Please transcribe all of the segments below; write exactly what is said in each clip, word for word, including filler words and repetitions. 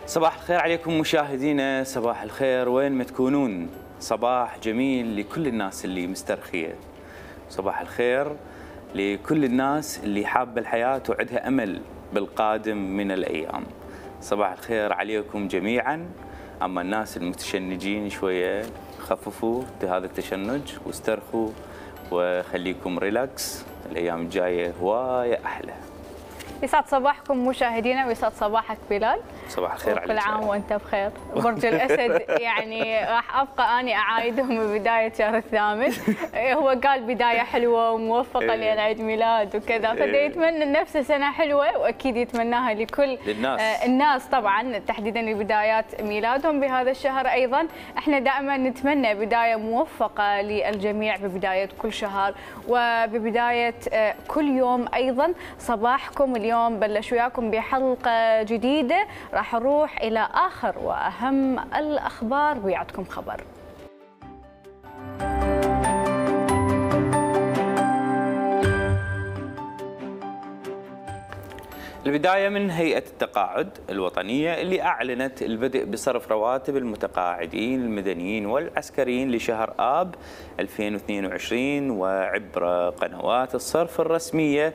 صباح الخير عليكم مشاهدينا، صباح الخير وين ما تكونون، صباح جميل لكل الناس اللي مسترخية، صباح الخير لكل الناس اللي حابة الحياة وعندها أمل بالقادم من الأيام. صباح الخير عليكم جميعا. أما الناس المتشنجين شوية خففوا هذا التشنج واسترخوا وخليكم ريلاكس، الأيام الجاية هواية أحلى. يسعد صباحكم مشاهدينا ويسعد صباحك بلال. صباح الخير عليك. كل عام وانت بخير. برج الاسد يعني راح ابقى اني اعايدهم ببدايه شهر الثامن. هو قال بدايه حلوه وموفقه لين عيد ميلاد وكذا، فدا يتمنى نفسه سنه حلوه واكيد يتمناها لكل للناس. آه الناس طبعا تحديدا لبدايات ميلادهم بهذا الشهر. ايضا احنا دائما نتمنى بدايه موفقه للجميع ببدايه كل شهر وببدايه آه كل يوم. ايضا صباحكم اليوم بلش وياكم بحلقه جديده راح نروح إلى آخر وأهم الأخبار ويعطكم خبر. البداية من هيئة التقاعد الوطنية اللي أعلنت البدء بصرف رواتب المتقاعدين المدنيين والعسكريين لشهر آب ألفين واثنين وعشرين وعبر قنوات الصرف الرسمية،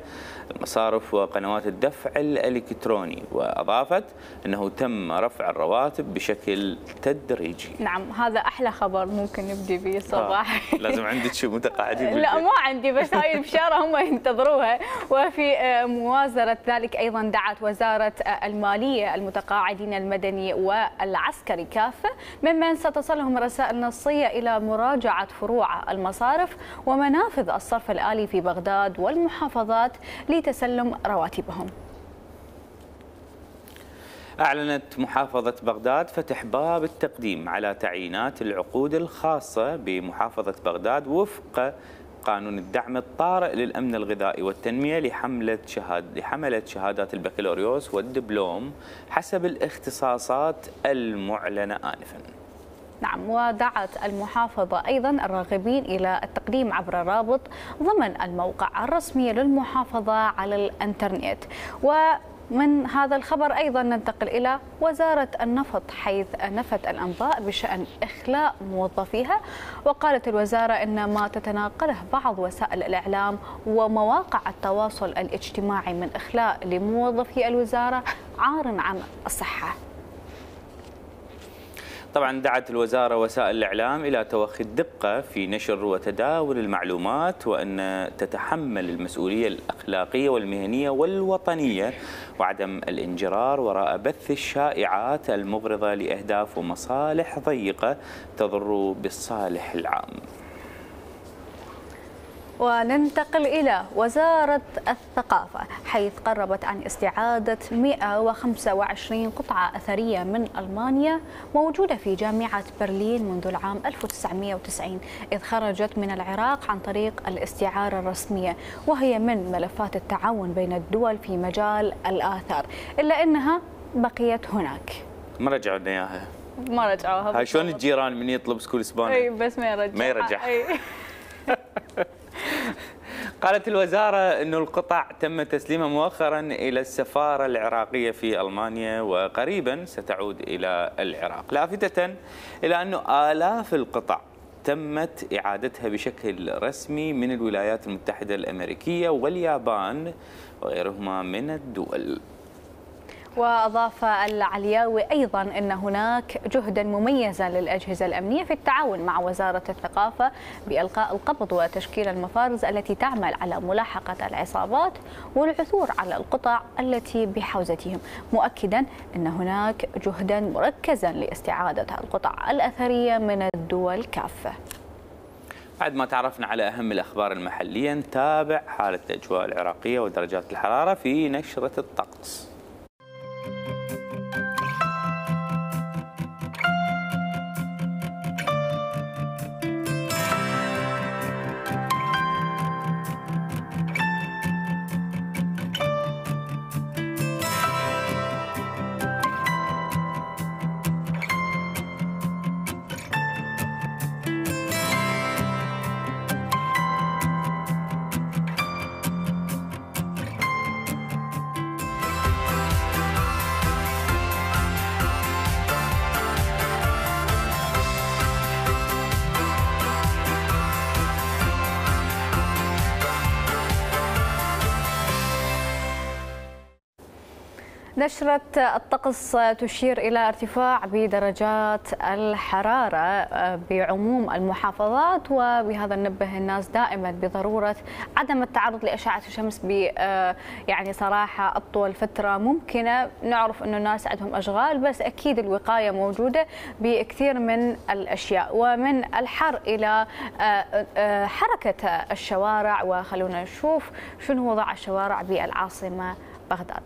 المصارف وقنوات الدفع الإلكتروني، وأضافت أنه تم رفع الرواتب بشكل تدريجي. نعم، هذا أحلى خبر ممكن نبدي به الصباح. لازم عندك شو متقاعدين؟ لا ما عندي، بس هاي البشارة هم ينتظروها. وفي موازرة ذلك أيضا دعت وزارة المالية المتقاعدين المدني والعسكري كافة ممن ستصلهم رسائل نصية إلى مراجعة فروع المصارف ومنافذ الصرف الآلي في بغداد والمحافظات لتسلم رواتبهم. أعلنت محافظة بغداد فتح باب التقديم على تعيينات العقود الخاصة بمحافظة بغداد وفق قانون الدعم الطارئ للأمن الغذائي والتنمية لحملة شهاد لحملة شهادات البكالوريوس والدبلوم حسب الاختصاصات المعلنة آنفاً. نعم، ودعت المحافظة أيضا الراغبين إلى التقديم عبر رابط ضمن الموقع الرسمي للمحافظة على الإنترنت. ومن هذا الخبر أيضا ننتقل إلى وزارة النفط، حيث نفت الأنباء بشأن إخلاء موظفيها. وقالت الوزارة إن ما تتناقله بعض وسائل الإعلام ومواقع التواصل الاجتماعي من إخلاء لموظفي الوزارة عار عن الصحة. طبعا دعت الوزارة وسائل الإعلام إلى توخي الدقة في نشر وتداول المعلومات، وأن تتحمل المسؤولية الأخلاقية والمهنية والوطنية وعدم الانجرار وراء بث الشائعات المغرضة لأهداف ومصالح ضيقة تضر بالصالح العام. وننتقل إلى وزارة الثقافة، حيث قربت عن استعادة مئة وخمسة وعشرين قطعة أثرية من ألمانيا موجودة في جامعة برلين منذ العام ألف وتسعمئة وتسعين، إذ خرجت من العراق عن طريق الاستعارة الرسمية، وهي من ملفات التعاون بين الدول في مجال الآثار، إلا أنها بقيت هناك. ما رجعوا لنا إياها. ما رجعوها. هاي شلون الجيران من يطلب سكول اسباني؟ اي بس ما يرجع. ما يرجع. قالت الوزارة أن القطع تم تسليمها مؤخرا إلى السفارة العراقية في ألمانيا وقريبا ستعود إلى العراق، لافتة إلى أن آلاف القطع تمت إعادتها بشكل رسمي من الولايات المتحدة الأمريكية واليابان وغيرهما من الدول. وأضاف العلياوي أيضا أن هناك جهدا مميزا للأجهزة الأمنية في التعاون مع وزارة الثقافة بإلقاء القبض وتشكيل المفارز التي تعمل على ملاحقة العصابات والعثور على القطع التي بحوزتهم، مؤكدا أن هناك جهدا مركزا لاستعادة القطع الأثرية من الدول كافة. بعد ما تعرفنا على أهم الأخبار المحلية، نتابع حالة الأجواء العراقية ودرجات الحرارة في نشرة الطقس. نشرة الطقس تشير إلى ارتفاع بدرجات الحرارة بعموم المحافظات، وبهذا ننبه الناس دائما بضرورة عدم التعرض لأشعة الشمس ب يعني صراحة أطول فترة ممكنة. نعرف أنه الناس عندهم أشغال، بس أكيد الوقاية موجودة بكثير من الأشياء، ومن الحر إلى حركة الشوارع. وخلونا نشوف شنو وضع الشوارع بالعاصمة بغداد.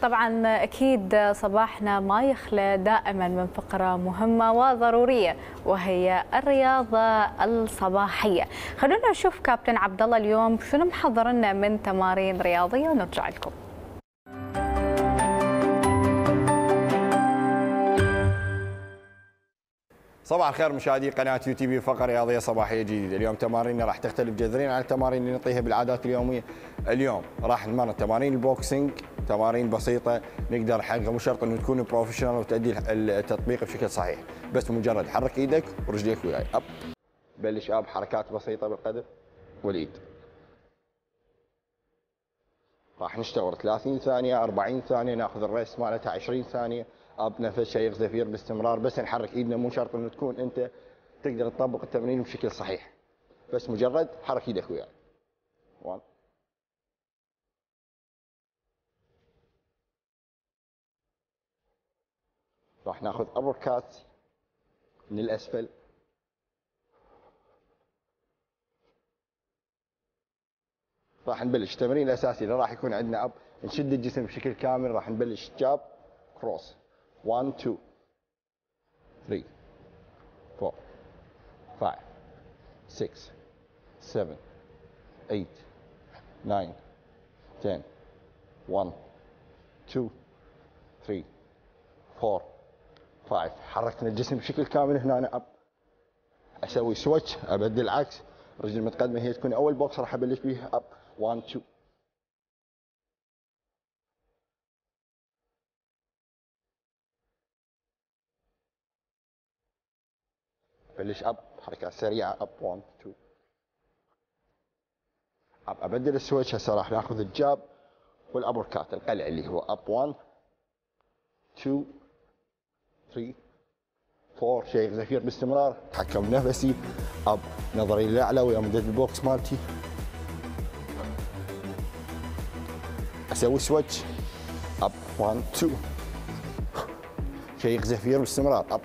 طبعا أكيد صباحنا ما يخلى دائما من فقرة مهمة وضرورية، وهي الرياضة الصباحية. خلونا نشوف كابتن عبد الله اليوم شنو محضر لنا من تمارين رياضية ونرجع لكم. صباح الخير مشاهدي قناة يو تي في، فقرة رياضية صباحية جديدة. اليوم تماريننا راح تختلف جذريا عن التمارين اللي نعطيها بالعادات اليومية. اليوم راح نتمرن تمارين البوكسينج، تمارين بسيطة نقدر نحققها، مو شرط انه تكون بروفيشنال وتؤدي التطبيق بشكل صحيح، بس مجرد حرك ايدك ورجليك وياي. اب بلش اب حركات بسيطة بالقدم والايد. راح نشتغل ثلاثين ثانية أربعين ثانية، ناخذ الريست مالتها عشرين ثانية. اب نفس شيء زفير باستمرار، بس نحرك ايدنا، مو شرط انه تكون انت تقدر تطبق التمرين بشكل صحيح، بس مجرد حرك ايدك وياي. واحد راح ناخذ ابر كات من الاسفل، راح نبلش التمرين الاساسي اللي راح يكون عندنا اب، نشد الجسم بشكل كامل. راح نبلش جاب كروس واحد اثنين ثلاثة أربعة خمسة ستة سبعة ثمانية تسعة عشرة واحد اثنين ثلاثة أربعة خمسة. حركنا الجسم بشكل كامل هنا. أنا اب اسوي سويتش، ابدل العكس، الرجل المتقدمه هي تكون اول بوكس راح ابلش بيها. اب واحد اثنين بلش اب حركات سريعه. اب واحد اثنين اب ابدل السويتش. هسه راح ناخذ الجاب والابر كات القلع اللي هو اب واحد اثنين ثلاثة أربعة. شيء زفير باستمرار، اتحكم بنفسي. اب نظري للاعلى ويا مدد البوكس مالتي، اسوي سويتش. اب واحد اثنين شيء زفير باستمرار. اب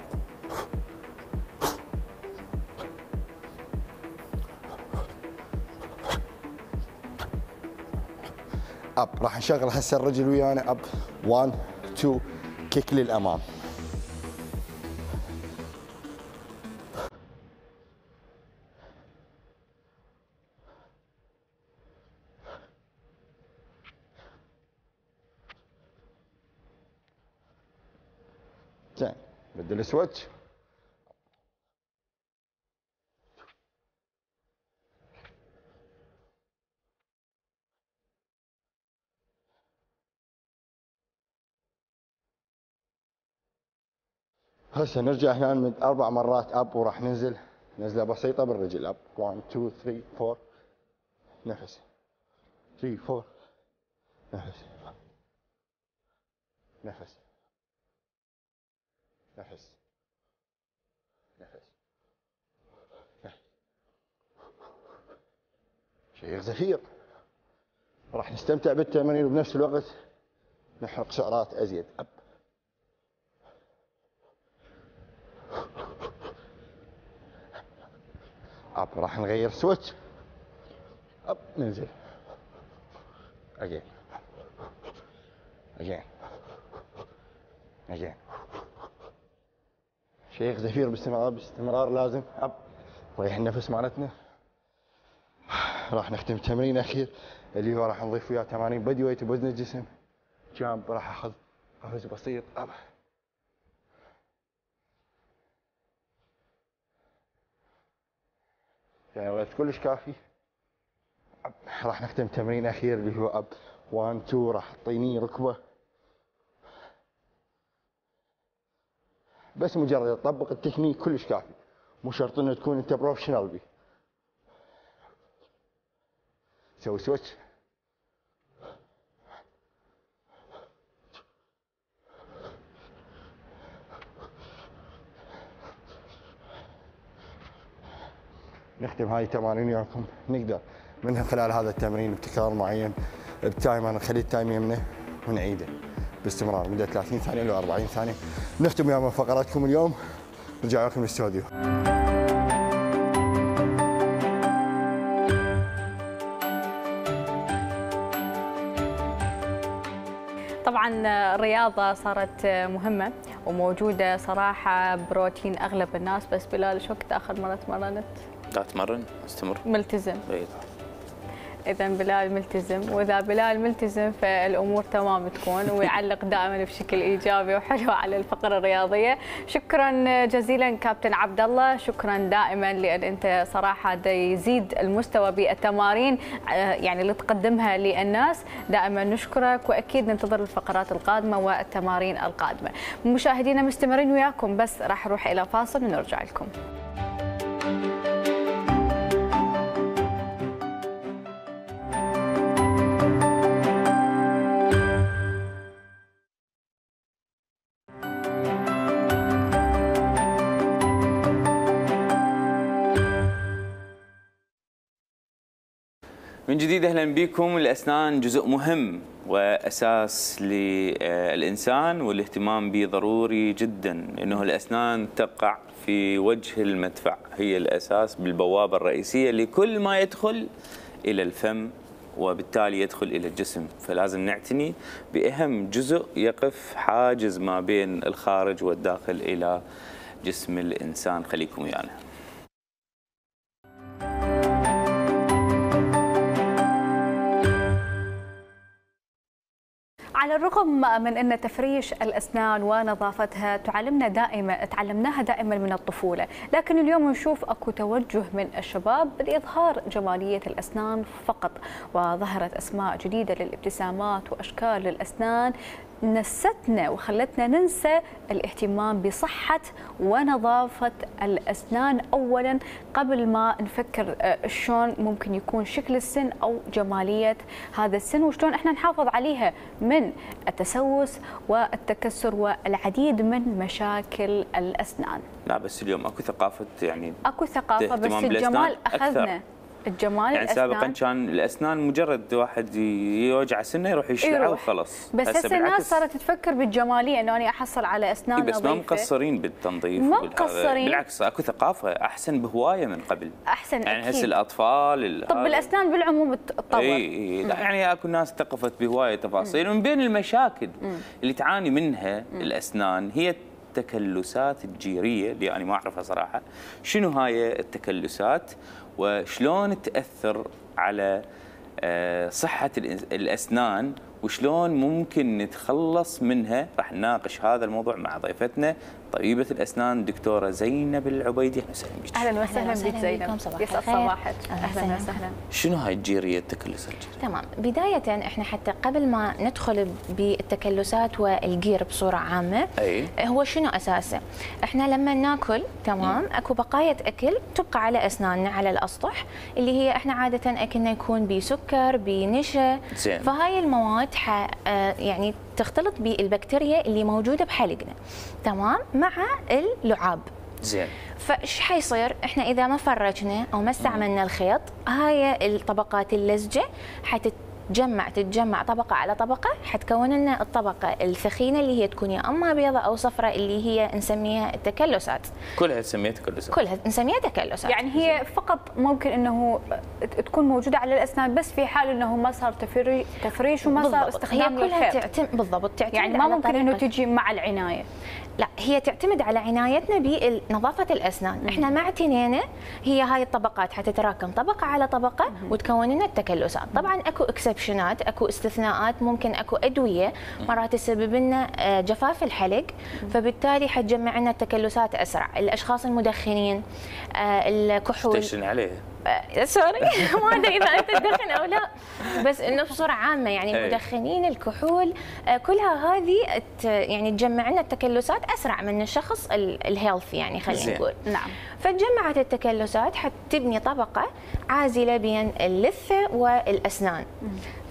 اب راح نشغل هسه الرجل ويانا. اب واحد اثنين كيك للامام. زين بدي السويتش. هسه نرجع هنا نمد اربع مرات اب وراح ننزل نزله بسيطه بالرجل اب واحد اثنين ثلاثة أربعة نفس ثلاثة أربعة نفس نفس نفس نفس شيء زفير. راح نستمتع بالتمارين وبنفس الوقت نحرق سعرات ازيد. اب اب راح نغير سويتش. اب ننزل اجين اجين اجين. شيخ زفير باستمرار باستمرار لازم. اب ريح النفس مالتنا. راح نختم تمرين اخير اللي هو راح نضيف وياه تمارين بدي ويت بوزن الجسم. جامب راح اخذ قفز بسيط. اب يعني وقت كلش كافي. راح نختم تمرين اخير اللي هو اب واحد اثنين. راح تعطيني ركبه بس مجرد تطبق التكنيك كلش كافي، مو شرط انه تكون انت بروفيشنال بيه. سوي سويتش. نختم هاي التمارين وياكم. نقدر من خلال هذا التمرين بتكرار معين بتايمر نخلي التايم يمنا ونعيده باستمرار مدة ثلاثين ثانية إلى أربعين ثانية. نختم ويا فقراتكم اليوم. نرجع لكم الاستوديو. طبعا الرياضة صارت مهمة وموجودة صراحة بروتين أغلب الناس، بس بلال شو وقت آخر مرة تمرنت؟ لا أتمرن أستمر. ملتزم. أي. إذا بلال ملتزم، وإذا بلال ملتزم فالأمور تمام تكون، ويعلق دائما بشكل إيجابي وحلو على الفقرة الرياضية. شكرا جزيلا كابتن عبد الله، شكرا دائما لأن أنت صراحة دا يزيد المستوى بالتمارين يعني اللي تقدمها للناس. دائما نشكرك وأكيد ننتظر الفقرات القادمة والتمارين القادمة. مشاهدينا مستمرين وياكم، بس راح نروح إلى فاصل ونرجع لكم. من جديد اهلا بكم. الاسنان جزء مهم واساس للانسان والاهتمام به ضروري جدا، انه الاسنان تقع في وجه المدفع، هي الاساس بالبوابه الرئيسيه لكل ما يدخل الى الفم وبالتالي يدخل الى الجسم، فلازم نعتني باهم جزء يقف حاجز ما بين الخارج والداخل الى جسم الانسان. خليكم ويانا. على الرغم من أن تفريش الأسنان ونظافتها تعلمنا دائما تعلمناها دائما من الطفولة، لكن اليوم نشوف أكو توجه من الشباب لإظهار جمالية الأسنان فقط، وظهرت أسماء جديدة للابتسامات وأشكال للأسنان نستنا وخلتنا ننسى الاهتمام بصحة ونظافة الأسنان أولا قبل ما نفكر شلون ممكن يكون شكل السن أو جمالية هذا السن وشلون احنا نحافظ عليها من التسوس والتكسر والعديد من مشاكل الأسنان. لا بس اليوم اكو ثقافة، يعني اكو ثقافة بس الجمال أخذنا. الجمال يعني سابقا كان الاسنان مجرد واحد يوجع سنه يروح يشلعها وخلاص، بس هسه الناس صارت تفكر بالجماليه انه انا احصل على اسنان نظيفه. بس ما مقصرين بالتنظيف، ما مقصرين بالعكس اكو ثقافه احسن بهوايه من قبل. احسن يعني هسه الاطفال طب الاسنان بالعموم تطور. اي لا يعني اكو ناس ثقفت بهوايه تفاصيل. ومن بين المشاكل مم. اللي تعاني منها مم. الاسنان هي التكلسات الجيريه اللي انا ما اعرفها صراحه. شنو هاي التكلسات وشلون تأثر على صحة الأسنان وشلون ممكن نتخلص منها. راح نناقش هذا الموضوع مع ضيفتنا طبيبة الأسنان دكتورة زينب العبيدي. أهلا وسهلا بك. أهلا وسهلا بك زينب، يسعد صباحك. أهلا وسهلا. شنو هاي الجيرية التكلس الجيري؟ تمام، بداية احنا حتى قبل ما ندخل بالتكلسات والجير بصورة عامة، أي. هو شنو أساسه؟ احنا لما ناكل تمام اكو بقايا أكل تبقى على أسناننا على الأسطح، اللي هي احنا عادة أكلنا يكون بسكر بنشا، زين. فهاي المواد ح يعني تختلط بالبكتيريا اللي موجودة بحلقنا تمام مع اللعاب. زين. فايش حيصير؟ احنا اذا ما فرجنا او ما استعملنا الخيط، هاي الطبقات اللزجه حتتجمع تتجمع طبقه على طبقه، حتكون لنا الطبقه الثخينه اللي هي تكون يا اما بيضاء او صفراء، اللي هي نسميها التكلسات. كلها تسميها تكلسات. كلها نسميها تكلسات. يعني هي فقط ممكن انه تكون موجوده على الاسنان بس في حال انه ما صار تفري تفريش وما صار استخدام هي كلها للخيط. تعتمد بالضبط، تعتمد يعني ما على ممكن انه طريقة- تجي مع العنايه. لا، هي تعتمد على عنايتنا بنظافة الأسنان. مم. احنا ما اعتنينا، هي هاي الطبقات حتتراكم طبقة على طبقة مم. وتكون لنا التكلسات. طبعا اكو اكسبشنات، اكو استثناءات، ممكن اكو أدوية مرات تسبب لنا جفاف الحلق، مم. فبالتالي حتجمع لنا التكلسات أسرع. الأشخاص المدخنين، الكحول. تشن عليه. سوري ما ادري اذا انت تدخن او لا، بس انه بصوره عامه يعني المدخنين، الكحول، كلها هذه يعني تجمع لنا التكلسات اسرع من الشخص الهيلثي يعني خلينا نقول. نعم. فتجمعت التكلسات حتبني طبقه عازله بين اللثه والاسنان،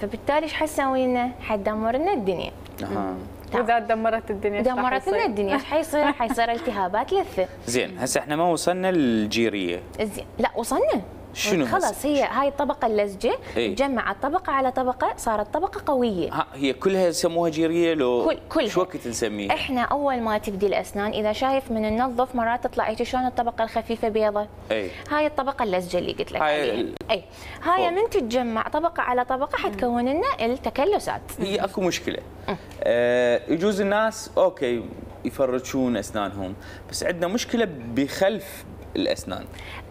فبالتالي ايش حتسوي لنا؟ حتدمر لنا الدنيا. اها. واذا دمرت الدنيا دمرت لنا الدنيا ايش حيصير؟ حيصير التهابات لثه. زين، هسه احنا ما وصلنا للجيريه. زين، لا وصلنا. شنو خلاص، هي هاي الطبقه اللزجه ايه؟ تجمعت طبقه على طبقه، صارت طبقه قويه. ها، هي كلها يسموها جيريه لو كل كلها. شو وقت نسميها؟ احنا اول ما تبدي الاسنان اذا شايف من النظف مرات تطلع هيك شلون الطبقه الخفيفه بيضة. اي. هاي الطبقه اللزجه اللي قلت لك هاي عليها. ال... اي هاي من تتجمع طبقه على طبقه حتكون لنا التكلسات. هي اكو مشكله. آه يجوز الناس اوكي يفرشون اسنانهم، بس عندنا مشكله بخلف الاسنان.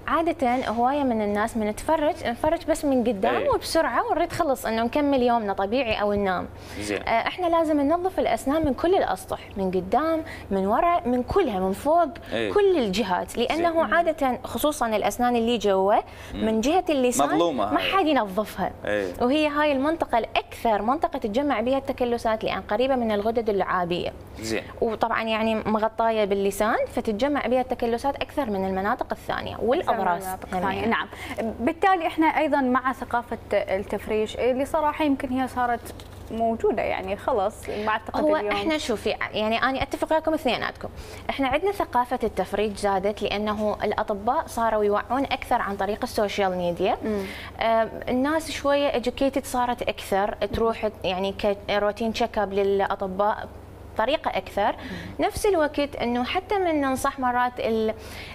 عادة هواية من الناس من نتفرج نفرج بس من قدام أي. وبسرعة ونريد خلص انه نكمل يومنا طبيعي او ننام. زين. آه احنا لازم ننظف الاسنان من كل الاسطح، من قدام، من وراء، من كلها، من فوق. أي. كل الجهات، لانه زين. عادة خصوصا الاسنان اللي جوا من جهة اللسان مظلومة ما هاي. حد ينظفها. أي. وهي هاي المنطقة الاكثر منطقة تتجمع بها التكلسات، لان قريبة من الغدد اللعابية. زين. وطبعا يعني مغطاية باللسان، فتتجمع بها التكلسات اكثر من المناطق الثانية والاضراس. نعم. بالتالي احنا ايضا مع ثقافه التفريش اللي صراحه يمكن هي صارت موجوده يعني خلاص مع التقدم هو اليوم. احنا شوفي يعني انا اتفق وياكم اثنيناتكم، احنا عندنا ثقافه التفريج زادت لانه الاطباء صاروا يوعون اكثر عن طريق السوشيال ميديا. آه الناس شويه educated صارت اكثر، تروح يعني كروتين تشيك اب للاطباء طريقة أكثر. نفس الوقت أنه حتى من ننصح مرات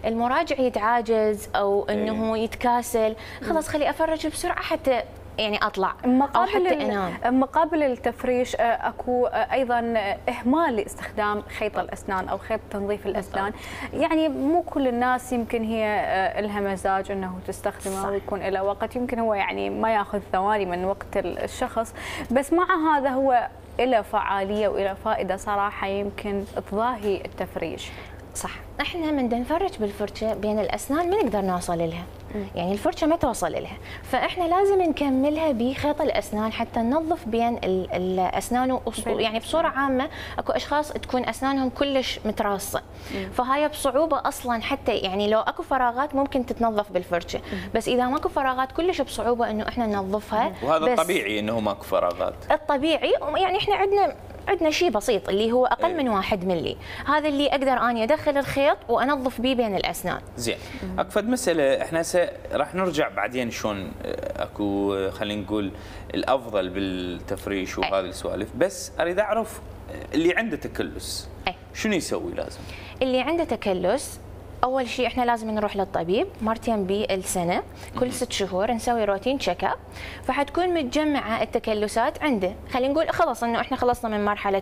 المراجع يتعاجز أو أنه يتكاسل، خلاص خلي أفرج بسرعة حتى يعني اطلع او حتى انام. مقابل التفريش اكو ايضا اهمال لاستخدام خيط الاسنان او خيط تنظيف الاسنان. يعني مو كل الناس يمكن هي لها مزاج انه تستخدمه ويكون له وقت، يمكن هو يعني ما ياخذ ثواني من وقت الشخص، بس مع هذا هو له فعاليه وله فائده صراحه يمكن تضاهي التفريش. صح، احنا من نفرج بالفرشه بين الاسنان ما نقدر نوصل لها، يعني الفرشه ما توصل لها، فاحنا لازم نكملها بخيط الاسنان حتى ننظف بين الاسنان. يعني بصوره عامه اكو اشخاص تكون اسنانهم كلش متراصه، فهاي بصعوبه اصلا حتى يعني لو اكو فراغات ممكن تتنظف بالفرشه، بس اذا ماكو فراغات كلش بصعوبه انه احنا ننظفها. وهذا الطبيعي انه ماكو فراغات. الطبيعي يعني احنا عندنا عندنا شيء بسيط اللي هو اقل من واحد ملي، هذا اللي اقدر اني ادخل الخيط وانظف به بين الاسنان. زين، اكفد مساله احنا هسه راح نرجع بعدين شلون اكو خلينا نقول الافضل بالتفريش وهذه السوالف، بس اريد اعرف اللي عنده تكلس أي. شنو يسوي لازم؟ اللي عنده تكلس اول شيء احنا لازم نروح للطبيب مرتين بالسنه، كل ست شهور نسوي روتين تشيك اب، فحتكون متجمعه التكلسات عنده. خلينا نقول خلاص انه احنا خلصنا من مرحله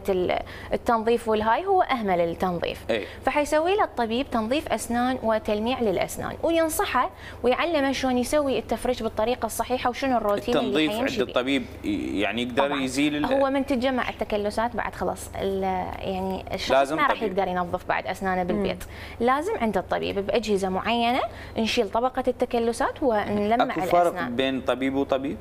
التنظيف والهاي، هو اهمل التنظيف، أي. فحيسوي له الطبيب تنظيف اسنان وتلميع للاسنان، وينصحه ويعلمه شلون يسوي التفريش بالطريقه الصحيحه وشنو الروتين اللي التنظيف حيمشي عند بيه. الطبيب يعني يقدر طبعاً. يزيل هو من تتجمع التكلسات بعد خلاص يعني الشخص لازم ما راح طبيب. يقدر ينظف بعد اسنانه بالبيت، مم. لازم عند الطبيب باجهزه معينه نشيل طبقه التكلسات ونلمع اكو الاسنان. فرق بين طبيب وطبيب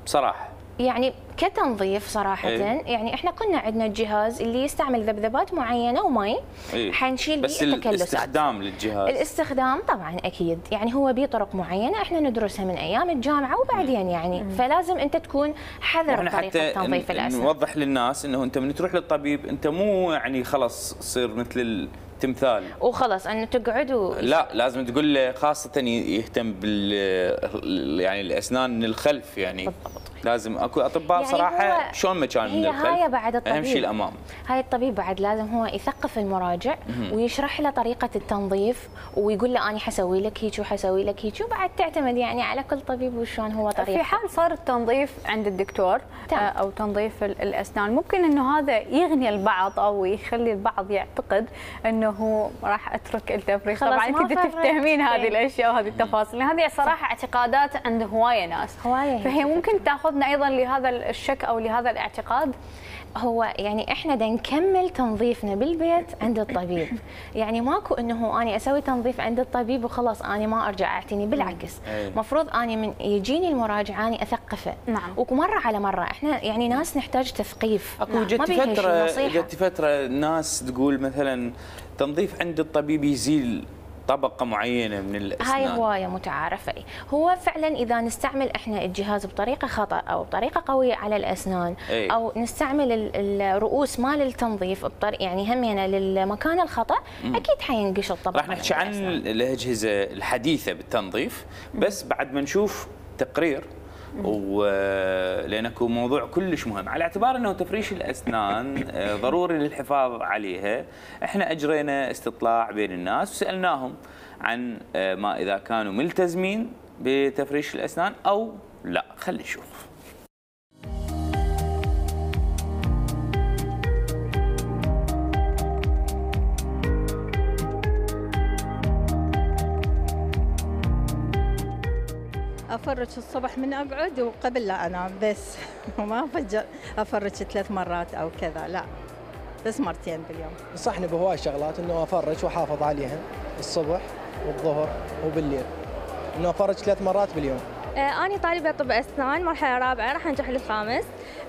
بصراحه؟ يعني كتنظيف صراحة إيه؟ يعني احنا كنا عندنا جهاز اللي يستعمل ذبذبات معينة ومي، إيه؟ حنشيل بس بيه التكلسات. الاستخدام للجهاز الاستخدام طبعا اكيد يعني هو بيه طرق معينة احنا ندرسها من ايام الجامعة وبعدين يعني مم. فلازم انت تكون حذر بطريقة تنظيف الاسنان. نوضح للناس انه انت من تروح للطبيب انت مو يعني خلص تصير مثل التمثال وخلص انه تقعد و... لا، لازم تقول له خاصة يهتم بال يعني الاسنان من الخلف يعني بالضبط. لازم اكو اطباء يعني صراحه شلون مكان من الخلف، هاي بعد الطبيب اهم شيء الامام. هاي الطبيب بعد لازم هو يثقف المراجع ويشرح له طريقه التنظيف ويقول له انا حسوي لك هيك وحسوي لك هيك، وبعد تعتمد يعني على كل طبيب وشلون هو طريقته. في حال صار التنظيف عند الدكتور تم. او تنظيف الاسنان، ممكن انه هذا يغني البعض او يخلي البعض يعتقد انه راح اترك التفريش. طبعا انت تفتهمين هذه الاشياء وهذه التفاصيل، هذه صراحه اعتقادات عند هوايه ناس، هوايه فهي ممكن تاخذنا ايضا لهذا الشك او لهذا الاعتقاد. هو يعني احنا بدنا نكمل تنظيفنا بالبيت عند الطبيب، يعني ماكو انه اني اسوي تنظيف عند الطبيب وخلاص اني ما ارجع اعتني، بالعكس المفروض اني من يجيني المراجع اني اثقفه. نعم. ومره على مره احنا يعني ناس نحتاج تثقيف. اكو جت فتره جت فتره ناس تقول مثلا تنظيف عند الطبيب يزيل طبقة معينة من الأسنان. هاي هواية متعارفة. هو فعلا إذا نستعمل إحنا الجهاز بطريقة خطأ أو بطريقة قوية على الأسنان أي. أو نستعمل الرؤوس مال التنظيف بطريقة يعني همينة للمكان الخطأ مم. أكيد حينقش الطبقة. راح نحكي عن الأجهزة الحديثة بالتنظيف بس بعد ما نشوف تقرير، ولأنه موضوع كلش مهم على اعتبار أنه تفريش الأسنان ضروري للحفاظ عليها. احنا أجرينا استطلاع بين الناس وسألناهم عن ما إذا كانوا ملتزمين بتفريش الأسنان أو لا. خلي نشوف. أفرج الصبح من أقعد وقبل لا أنام بس، وما أفجر أفرج ثلاث مرات أو كذا، لا بس مرتين باليوم. نصحني بهواي شغلات إنه أفرج وأحافظ عليها الصبح والظهر وبالليل، إنه أفرج ثلاث مرات باليوم. آه أنا طالبة طب أسنان مرحلة رابعة راح أنجح للخامس.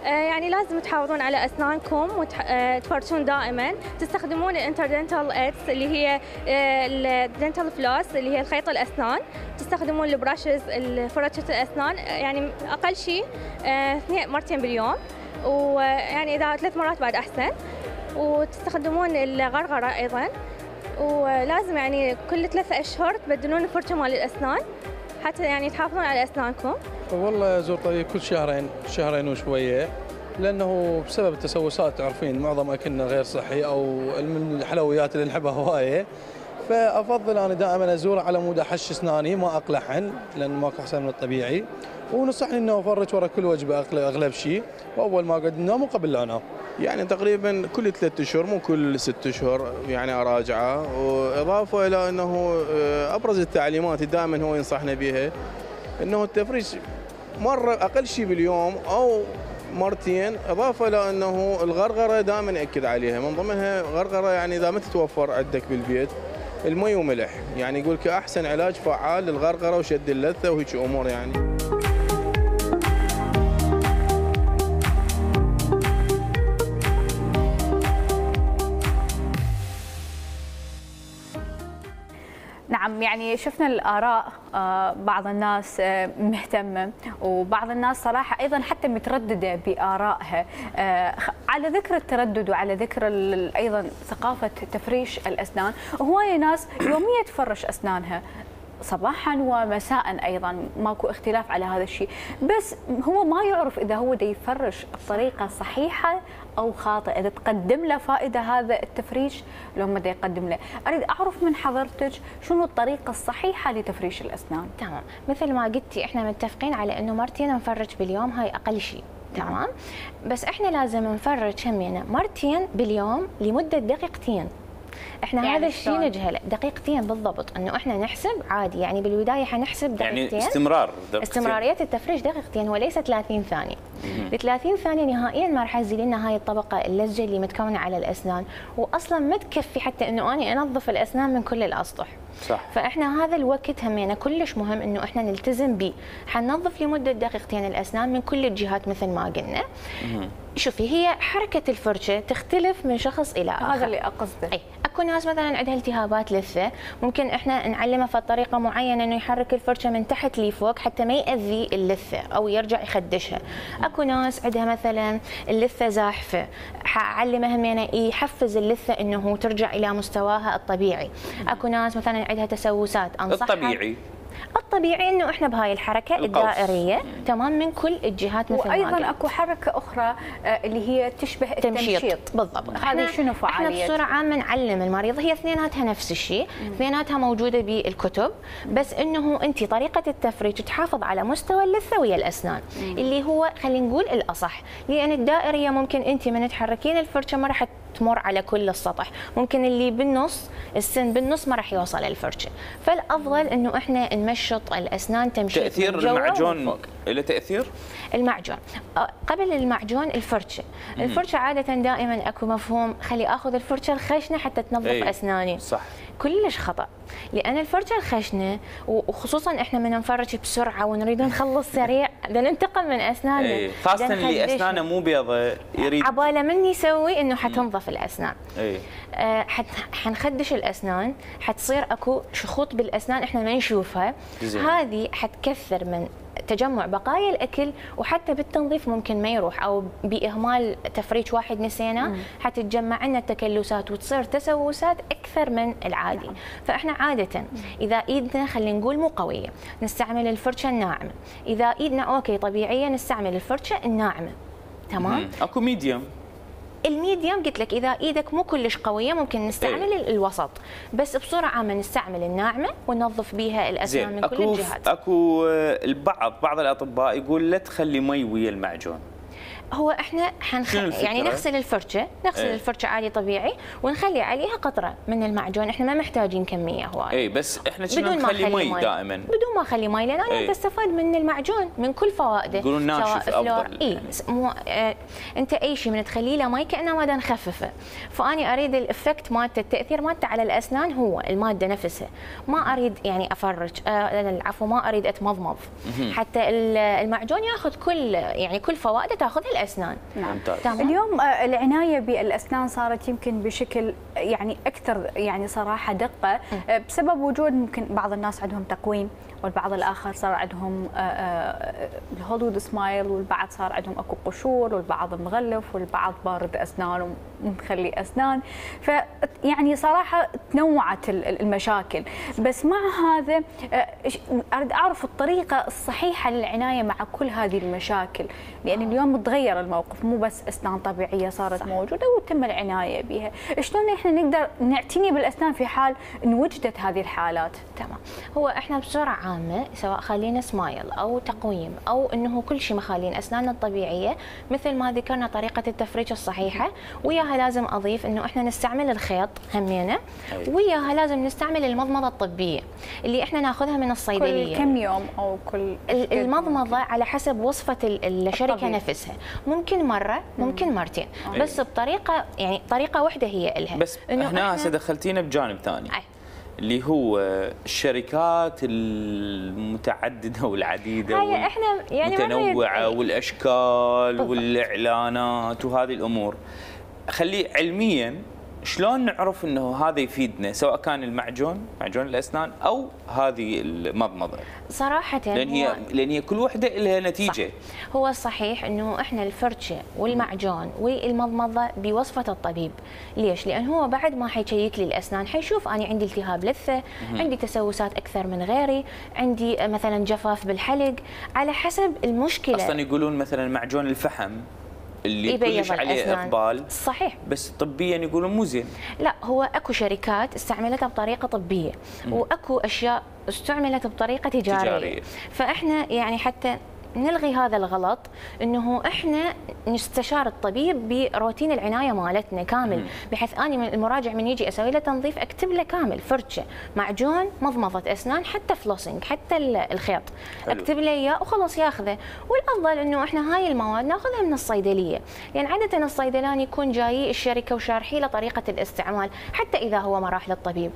آه يعني لازم تحافظون على أسنانكم وتفرشون دائما، تستخدمون الانتردنتال ايدز اللي هي الدنتال فلوس اللي هي الخيط الأسنان، تستخدمون البراشز فرشة الأسنان يعني أقل شيء آه مرتين باليوم، ويعني إذا ثلاث مرات بعد أحسن، وتستخدمون الغرغرة أيضا، ولازم يعني كل ثلاثة أشهر تبدلون الفرشة مال الأسنان حتى يعني تحافظون على أسنانكم. والله أزور طبيب كل شهرين شهرين وشوية، لأنه بسبب التسوسات تعرفين معظم أكلنا غير صحي أو من الحلويات اللي نحبها هواية، فأفضل أنا دائما أزور على مود أحش أسناني ما أقلعهن لأن ماكو أحسن من الطبيعي، ونصحني إنه أفرج ورا كل وجبة أغلب شيء، وأول ما أقعد أنام وقبل لا أنام. يعني تقريبا كل ثلاثة اشهر مو كل ست اشهر يعني اراجعه، واضافه الى انه ابرز التعليمات دائما هو ينصحنا بها انه التفريش مره اقل شيء باليوم او مرتين، اضافه الى انه الغرغره دائما ياكد عليها، من ضمنها غرغره يعني اذا ما تتوفر عندك بالبيت المي وملح، يعني يقول لك احسن علاج فعال للغرغره وشد اللثه وهيك امور يعني. نعم، يعني شفنا الآراء، بعض الناس مهتمة وبعض الناس صراحة أيضا حتى مترددة بآرائها. على ذكر التردد وعلى ذكر أيضا ثقافة تفريش الأسنان، هواية ناس يوميا تفرش أسنانها، صباحا ومساء ايضا، ماكو اختلاف على هذا الشيء، بس هو ما يعرف اذا هو دا يفرش بطريقه صحيحه او خاطئه، اذا تقدم له فائده هذا التفريش لو ما دا يقدم له. اريد اعرف من حضرتك شنو الطريقه الصحيحه لتفريش الاسنان. تمام، مثل ما قلتي احنا متفقين على انه مرتين نفرج باليوم، هاي اقل شيء. تمام، بس احنا لازم نفرج همينه مرتين باليوم لمده دقيقتين. احنا يعني هذا الشيء نجهله دقيقتين بالضبط، انه احنا نحسب عادي، يعني بالبدايه حنحسب دقيقتين، يعني استمرار دقيقتين. استمراريه التفريش دقيقتين وليس ثلاثين ثانيه. ال ثلاثين ثانيه نهائيا ما راح تزيد لنا هاي الطبقه اللزجه اللي متكونه على الاسنان، واصلا ما تكفي حتى انه اني انظف الاسنان من كل الاسطح. صح. فاحنا هذا الوقت همينه كلش مهم انه احنا نلتزم به، حننظف لمده دقيقتين الاسنان من كل الجهات مثل ما قلنا. شوفي، هي حركه الفرشه تختلف من شخص الى اخر، هذا اللي اقصده. اي اكو ناس مثلا عندها التهابات لثه، ممكن احنا نعلمها في طريقه معينه انه يحرك الفرشه من تحت لفوق حتى ما ياذي اللثه او يرجع يخدشها. اكو ناس عندها مثلا اللثه زاحفه، حاعلمها همينه يحفز اللثه انه ترجع الى مستواها الطبيعي. اكو ناس مثلا عندها تسوسات، انصحها الطبيعي الطبيعي انه احنا بهاي الحركه القوس. الدائريه تمام من كل الجهات مثل ما قلت. وايضا اكو حركه اخرى اللي هي تشبه التمشيط. تمشيط بالضبط. هذه شنو فعاليتها؟ احنا بصوره عامه نعلم المريض، هي اثنيناتها نفس الشيء، اثنيناتها موجوده بالكتب، بس انه انت طريقه التفريج تحافظ على مستوى اللثه ويا الاسنان، مم. اللي هو خلينا نقول الاصح، لان الدائريه ممكن انت من تحركين الفرشه ما راح تمر على كل السطح، ممكن اللي بالنص السن بالنص ما راح يوصل الفرشه، فالافضل انه احنا نمشط الاسنان تمشيط. تاثير المعجون له تاثير؟ المعجون قبل المعجون الفرشه، مم. الفرشه عاده دائما اكو مفهوم خلي اخذ الفرشه الخشنه حتى تنظف ايه. اسناني. صح. كلش خطا، لان الفرشه الخشنه وخصوصا احنا من نفرج بسرعه ونريد نخلص سريع بدنا ننتقم من اسناننا، ايه. خاصه اللي اسنانه مو بيضة يريد عباله من يسوي انه حتنظف الاسنان. ايه. آه حت حنخدش الاسنان، حتصير اكو شخوط بالاسنان احنا ما نشوفها، هذه حتكثر من تجمع بقايا الاكل، وحتى بالتنظيف ممكن ما يروح، او باهمال تفريج واحد نسينا حتتجمع لنا التكلسات وتصير تسوسات اكثر من العادي. نعم. فاحنا عاده اذا ايدنا خلينا نقول مو قويه نستعمل الفرشه الناعمه، اذا ايدنا اوكي طبيعيه نستعمل الفرشه الناعمه. تمام. اكو ميديوم. الميديوم قلت لك اذا ايدك مو كلش قويه ممكن نستعمل ايه؟ الوسط، بس بصوره عامه نستعمل الناعمه وننظف بها الاسنان من كل الجهات. اكو البعض بعض الاطباء يقول لا تخلي مي ويا المعجون. هو احنا حنخ... يعني نغسل الفرشه، نغسل ايه؟ الفرشه عادي طبيعي ونخلي عليها قطره من المعجون، احنا ما محتاجين كميه هواي. اي بس احنا كنا نخلي مي, مي دائما بدون ما اخلي مي، لان انا تستفاد من المعجون من كل فوائده. يقولون ناشف افضل. اي مو اه انت اي شيء من تخليه له مي كانه ماده نخففه، فاني اريد الافكت مالته التاثير مالته على الاسنان هو الماده نفسها، ما اريد يعني افرج آه العفو ما اريد اتمضمض، حتى المعجون ياخذ كل يعني كل فوائده تاخذها الاسنان. نعم. تمام. اليوم العنايه بالاسنان صارت يمكن بشكل يعني اكثر يعني صراحه دقه، بسبب وجود ممكن بعض الناس عندهم تقويم، والبعض الاخر صار عندهم الهوليوود سمايل، والبعض صار عندهم اكو قشور، والبعض مغلف، والبعض بارد اسنان ومخلي اسنان، فيعني صراحه تنوعت المشاكل. بس مع هذا اريد اعرف الطريقه الصحيحه للعنايه مع كل هذه المشاكل، لان اليوم تغير الموقف، مو بس اسنان طبيعيه صارت صح. موجوده وتم العنايه بها، شلون احنا نقدر نعتني بالاسنان في حال ان وجدت هذه الحالات؟ تمام. هو احنا بسرعه عامه سواء خالين سمايل او تقويم او انه كل شيء مخالين اسناننا الطبيعيه، مثل ما ذكرنا طريقه التفريج الصحيحه، وياها لازم اضيف انه احنا نستعمل الخيط همينه، وياها لازم نستعمل المضمضه الطبيه اللي احنا ناخذها من الصيدليه. كل كم يوم او كل المضمضه على حسب وصفه الشركه الطبيعي. نفسها، ممكن مره ممكن مرتين، مم. بس بطريقه يعني طريقه واحده هي الها. بس هنا هسه دخلتينا بجانب ثاني أي. اللي هو الشركات المتعدده والعديده هاي احنا يعني متنوعه والاشكال بالضبط. والاعلانات وهذه الامور، خليه علميا شلون نعرف انه هذا يفيدنا سواء كان المعجون معجون الاسنان او هذه المضمضه؟ صراحه لان هي لان هي كل وحده لها نتيجه. صح. هو الصحيح انه احنا الفرشه والمعجون والمضمضه بوصفه الطبيب. ليش؟ لان هو بعد ما حيشيك لي الاسنان حيشوف انا عندي التهاب لثه، عندي تسوسات اكثر من غيري، عندي مثلا جفاف بالحلق، على حسب المشكله. اصلا يقولون مثلا معجون الفحم اللي كلش عليه اقبال، صحيح، بس طبيا يقولون مو زين. لا، هو اكو شركات استعملتها بطريقه طبيه، م. واكو اشياء استعملت بطريقه تجاريه, تجارية. فاحنا يعني حتى نلغي هذا الغلط، انه احنا نستشار الطبيب بروتين العنايه مالتنا كامل، بحيث اني المراجع من يجي اسوي له تنظيف اكتب له كامل فرشه، معجون، مضمضه اسنان، حتى فلوسنج، حتى الخيط، حلو. اكتب له اياه وخلاص ياخذه. والافضل انه احنا هاي المواد ناخذها من الصيدليه، يعني عاده الصيدلاني يكون جاي الشركه وشارحي له طريقه الاستعمال، حتى اذا هو ما راح للطبيب،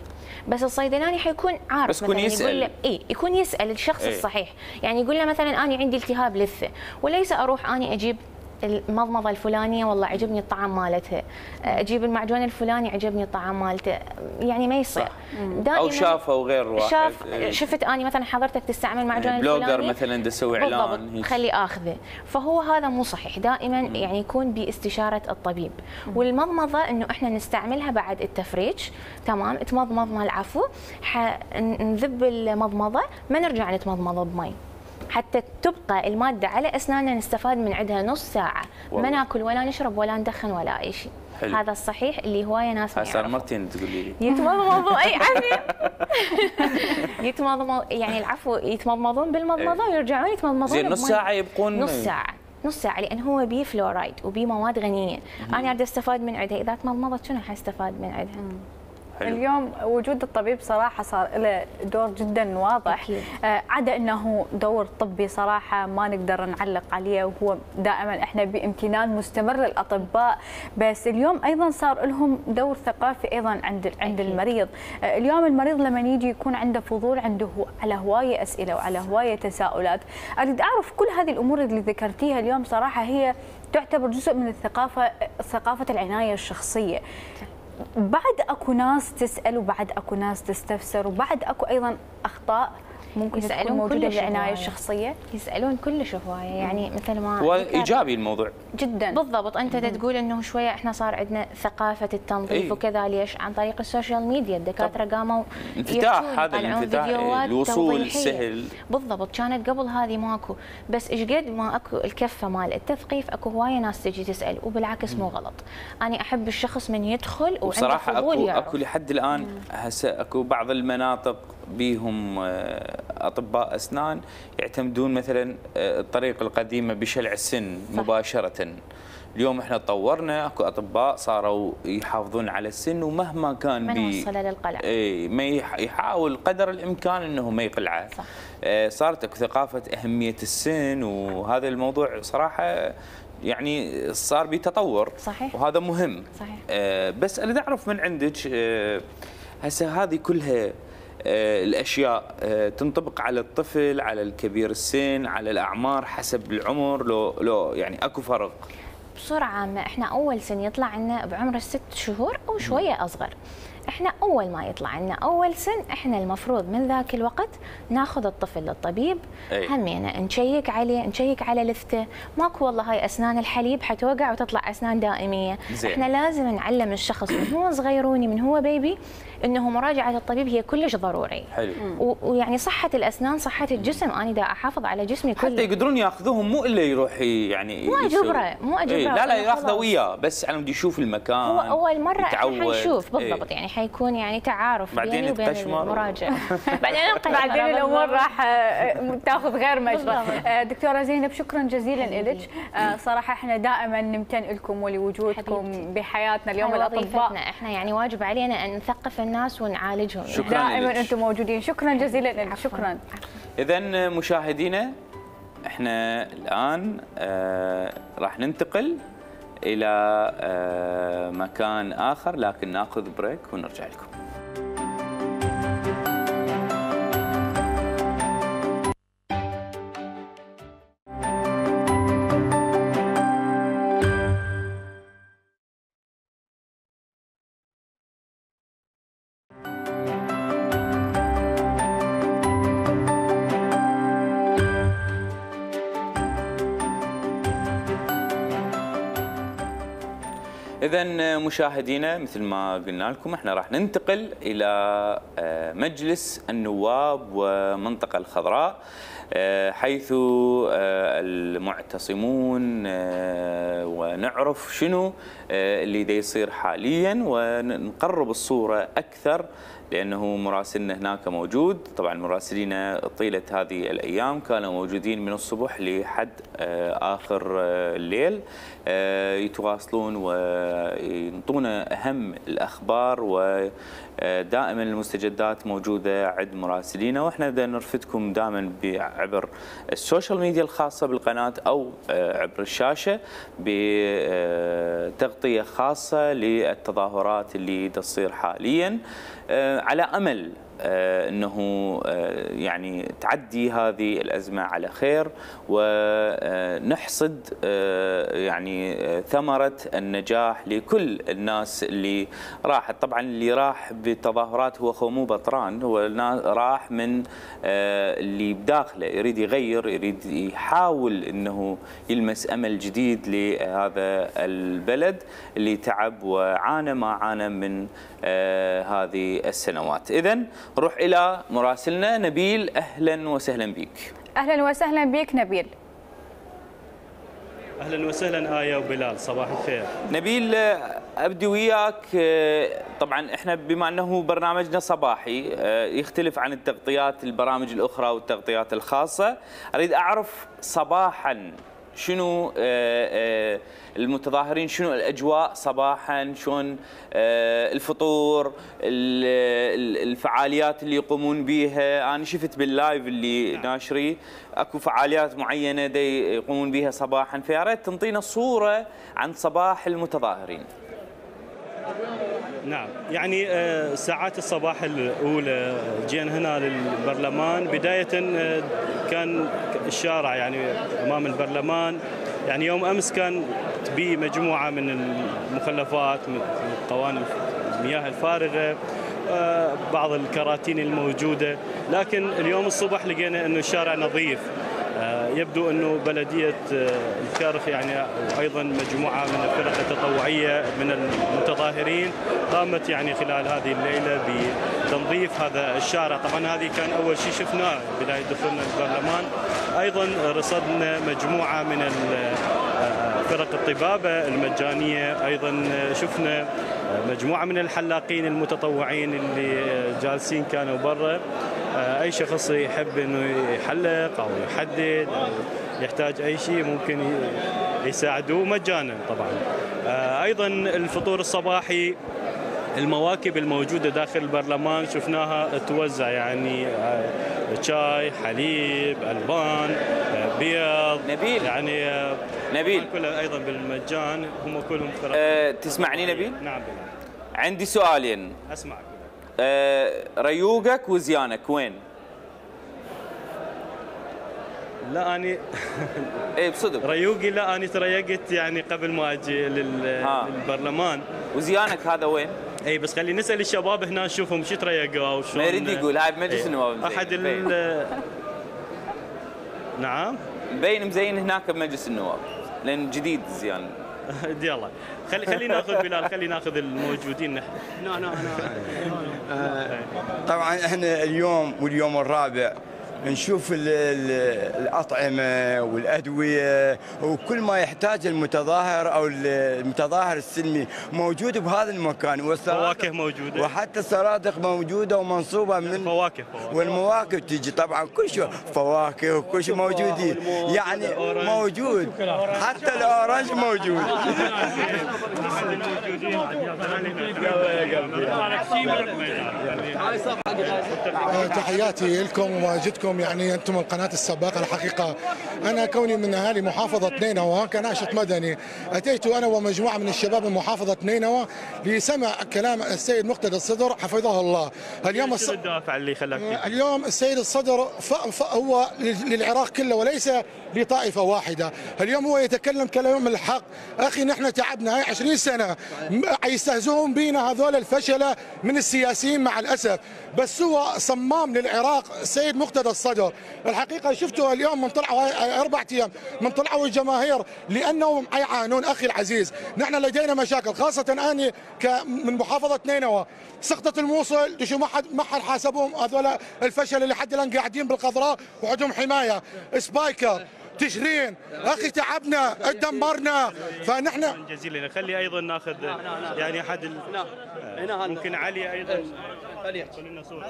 بس الصيدلاني حيكون عارف، بس يكون يسال، يقول له اي يكون يسال الشخص إيه؟ الصحيح، يعني يقول له مثلا انا عندي التهاب لثه، وليس اروح اني اجيب المضمضه الفلانيه والله عجبني الطعم مالتها، اجيب المعجون الفلاني عجبني الطعم مالته، يعني ما يصير. او شافه غير واحد، شاف شفت اني مثلا حضرتك تستعمل معجون الفلاني، بلوجر مثلا تسوي اعلان، خلي اخذه، فهو هذا مو صحيح. دائما م. يعني يكون باستشاره الطبيب. م. والمضمضه انه احنا نستعملها بعد التفريج، تمام، تمضمضنا العفو، نذب المضمضه، ما نرجع نتمضمض بمي، حتى تبقى الماده على اسناننا نستفاد من عندها نص ساعه، والله. ما ناكل ولا نشرب ولا ندخن ولا اي شيء. حلو. هذا الصحيح اللي هوايه ناس ما صار مرتين تقولي لي يتمضمضوا اي عافيه يتمضمضوا، يعني العفو يتمضمضون بالمضمضه ويرجعون يتمضمضون زين نص ساعه يبقون نص ساعه نص ساعه لان هو بيه فلورايد وبيه مواد غنيه، انا اريد استفاد من عندها، اذا تمضمضت شنو حستفاد من عندها؟ حلو. اليوم وجود الطبيب صراحة صار له دور جدا واضح، آه عدا أنه دور طبي صراحة ما نقدر نعلق عليه، وهو دائما إحنا بامتنان مستمر للأطباء، بس اليوم أيضا صار لهم دور ثقافي أيضا عند عند المريض. آه اليوم المريض لما يجي يكون عنده فضول، عنده على هواية أسئلة وعلى هواية تساؤلات، أريد أعرف كل هذه الأمور اللي ذكرتيها اليوم صراحة هي تعتبر جزء من الثقافة، ثقافة العناية الشخصية. بعد اكو ناس تسال، وبعد اكو ناس تستفسر، وبعد اكو ايضا اخطاء ممكن تكون موجوده بالعنايه الشخصيه، يسالون كلش هوايه، يعني مثل ما هو ايجابي الموضوع جدا. بالضبط، انت تقول انه شويه احنا صار عندنا ثقافه التنظيف ايه؟ وكذا، ليش؟ عن طريق السوشيال ميديا، الدكاتره قاموا انفتاح، هذا الانفتاح، الوصول سهل. بالضبط، كانت قبل هذه ماكو، بس ايش قد ما اكو الكفه مال التثقيف، اكو هوايه ناس تجي تسال، وبالعكس مو غلط. انا احب الشخص من يدخل وعنده فضول اكو يعرف. اكو لحد الان هسه اكو بعض المناطق بيهم اطباء اسنان يعتمدون مثلا الطريقه القديمه بشلع السن صح. مباشره. اليوم احنا تطورنا، اكو اطباء صاروا يحافظون على السن، ومهما كان ما نوصله للقلع، اي ما يحاول قدر الامكان انه ما يقلعه. صح. صارت اكو ثقافه اهميه السن، وهذا الموضوع صراحه يعني صار بتطور. صحيح. وهذا مهم. صحيح. آه بس اريد اعرف من عندك، آه هسه هذه كلها آه الاشياء آه تنطبق على الطفل، على الكبير السن، على الاعمار حسب العمر، لو لو يعني اكو فرق؟ بصوره عامه احنا اول سن يطلع عنا بعمر الست شهور او شويه اصغر. احنا اول ما يطلع لنا اول سن، احنا المفروض من ذاك الوقت ناخذ الطفل للطبيب، همينا نشيك عليه، نشيك على لثته، ماكو والله هاي اسنان الحليب حتوقع وتطلع اسنان دائميه. زي. احنا لازم نعلم الشخص من هو صغيروني، من هو بيبي، انه مراجعه الطبيب هي كلش ضروري. حلو. ويعني صحه الاسنان صحه الجسم، انا دا احافظ على جسمي كله، حتى يقدرون ياخذوهم، مو الا يروح يعني مو اجبره مو اجبره ايه لا لا ياخذه وياه، بس على مود يشوف المكان، هو اول مره يتعود. احنا حنشوف بالضبط. ايه. يعني حيكون يعني تعارف بيني وبين المراجع بعدين بعدين الامور راح تاخذ غير مجرى. دكتوره زينب، شكرا جزيلا لك، صراحه احنا دائما نمتن لكم ولوجودكم بحياتنا. اليوم الاطباء احنا يعني واجب علينا ان نثقف الناس ونعالجهم، دائما انتم موجودين. شكرا جزيلا لك. شكرا. اذا مشاهدينا، احنا الان آه راح ننتقل الى آه مكان اخر، لكن ناخذ بريك ونرجع لكم. إذا مشاهدينا مثل ما قلنا لكم احنا راح ننتقل إلى مجلس النواب ومنطقة الخضراء، حيث المعتصمون ونعرف شنو اللي دا يصير حاليا ونقرب الصورة أكثر، لأنه مراسلنا هناك موجود. طبعا مراسلين طيلة هذه الأيام كانوا موجودين من الصبح لحد آخر الليل، يتواصلون وينطونا أهم الأخبار، ودائما المستجدات موجودة عند مراسلينا، وإحنا بدنا نرفدكم دائما عبر السوشيال ميديا الخاصة بالقناة أو عبر الشاشة بتغطية خاصة للتظاهرات اللي تصير حاليا، على أمل أنه يعني تعدي هذه الأزمة على خير ونحصد يعني ثمرة النجاح لكل الناس اللي راحت. طبعا اللي راح بالتظاهرات هو هو مو بطران، هو راح من اللي بداخله يريد يغير، يريد يحاول أنه يلمس أمل جديد لهذا البلد اللي تعب وعانى ما عانى من هذه السنوات. إذن نروح إلى مراسلنا نبيل. أهلا وسهلا بك. أهلا وسهلا بك نبيل. أهلا وسهلا آية وبلال، صباح الخير. نبيل أبدي وياك، طبعا إحنا بما أنه برنامجنا صباحي يختلف عن التغطيات البرامج الأخرى والتغطيات الخاصة، أريد أعرف صباحا شنو المتظاهرين، شنو الأجواء صباحا، شلون الفطور، الفعاليات اللي يقومون بها. أنا شفت باللايف اللي ناشري أكو فعاليات معينة دي يقومون بها صباحا، فيا ريت تنطينا صورة عن صباح المتظاهرين. نعم، يعني ساعات الصباح الأولى جينا هنا للبرلمان. بداية كان الشارع يعني أمام البرلمان يعني يوم أمس كان تبي مجموعة من المخلفات، من قواني المياه الفارغة، بعض الكراتين الموجودة، لكن اليوم الصبح لقينا أنه الشارع نظيف. يبدو أنه بلدية الكرخ يعني أيضا مجموعة من الفرق التطوعية من المتظاهرين قامت يعني خلال هذه الليلة بتنظيف هذا الشارع. طبعا هذه كان أول شيء شفناه بداية دخولنا البرلمان. أيضا رصدنا مجموعة من فرق الطبابة المجانية، أيضا شفنا مجموعة من الحلاقين المتطوعين اللي جالسين كانوا برا. أي شخص يحب أنه يحلق أو يحدد أو يحتاج أي شيء ممكن يساعدوه مجانا طبعا. أيضا الفطور الصباحي، المواكب الموجودة داخل البرلمان شفناها توزع، يعني شاي، حليب، ألبان، بيض، نبيل يعني نبيل كلها أيضا بالمجان، هم كلهم فرق. أه تسمعني نبيل؟ نعم بلال. عندي سؤالين. أسمعك. أه ريوقك وزيانك وين؟ لا أني ايه بصدق ريوقي لا أني تريقت يعني قبل ما أجي للبرلمان. وزيانك هذا وين؟ اي بس خلي نسال الشباب هنا نشوفهم شو تريقوا وشلون. ما يريد يقول هاي بمجلس النواب. احد ال نعم مبين مزين هناك بمجلس النواب لان جديد زيان. يلا خلي خلي ناخذ بلال، خلي ناخذ الموجودين نحن. لا لا انا طبعا احنا اليوم واليوم الرابع نشوف الأطعمة والأدوية وكل ما يحتاج المتظاهر أو المتظاهر السلمي موجود بهذا المكان. فواكه موجودة وحتى السرادق موجودة ومنصوبة من فواكه. والمواكب تيجي طبعا كل شيء، فواكه وكل شيء موجودين، يعني موجود حتى الأورنج موجود. تحياتي لكم ومواجدكم، يعني انتم من قناه السباقه. الحقيقه انا كوني من اهالي محافظه نينوى كناشط مدني، اتيت انا ومجموعه من الشباب من محافظه نينوى لسمع كلام السيد مقتدى الصدر حفظه الله. اليوم شو الدافع اللي خلاك؟ اليوم السيد الصدر هو للعراق كله وليس لطائفه واحده. اليوم هو يتكلم كلام الحق. اخي نحن تعبنا هاي عشرين سنه، يستهزئون بينا هذول الفشله من السياسيين مع الاسف، بس هو صمام للعراق السيد مقتدى الصدر الصدر. الحقيقه شفتوا اليوم من طلعوا اربع ايام من طلعوا الجماهير لانهم يعانون. اخي العزيز، نحن لدينا مشاكل، خاصه اني من محافظه نينوى. سقطت الموصل شو ما حد ما حد حاسبهم هذول الفشل اللي حد الان قاعدين بالقذراء وعندهم حمايه سبايكر تشرين. اخي تعبنا اتدمرنا. فنحن جزيلا خلي ايضا ناخذ يعني احد ممكن علي ايضا خلينا صوره.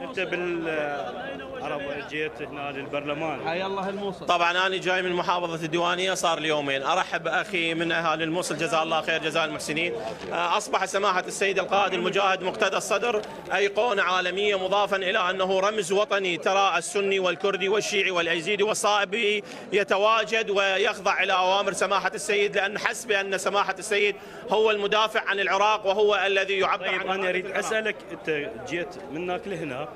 انت بالعرب جيت هنا للبرلمان. حيا الله الموصل. طبعا انا جاي من محافظه الديوانيه صار لي يومين. ارحب باخي من اهالي الموصل جزاه الله خير جزاء المحسنين. اصبح سماحه السيد القائد المجاهد مقتدى الصدر ايقونه عالميه، مضافا الى انه رمز وطني. ترى السني والكردي والشيعي والايزيدي والصائبي يتواجد ويخضع الى اوامر سماحه السيد، لان حسب ان سماحه السيد هو المدافع عن العراق وهو الذي يعبر طيب عن. انا اريد اسالك، انت جيت من هناك لهنا،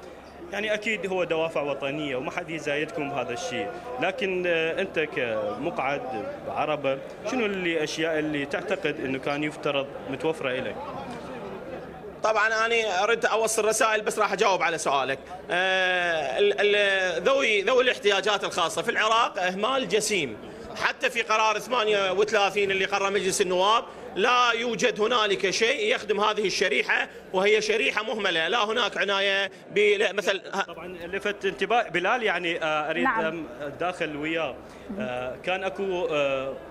يعني اكيد هو دوافع وطنيه وما حد يزايدكم بهذا الشيء، لكن انت كمقعد عربه شنو اللي اشياء اللي تعتقد انه كان يفترض متوفره لك؟ طبعا انا اردت اوصل رسائل بس راح اجاوب على سؤالك. ذوي ذوي الاحتياجات الخاصه في العراق اهمال جسيم. حتى في قرار ثمانية وثلاثين اللي قرر مجلس النواب لا يوجد هنالك شيء يخدم هذه الشريحه، وهي شريحه مهمله. لا هناك عنايه مثل. طبعا لفت انتباه بلال، يعني اريد نعم. داخل وياه كان اكو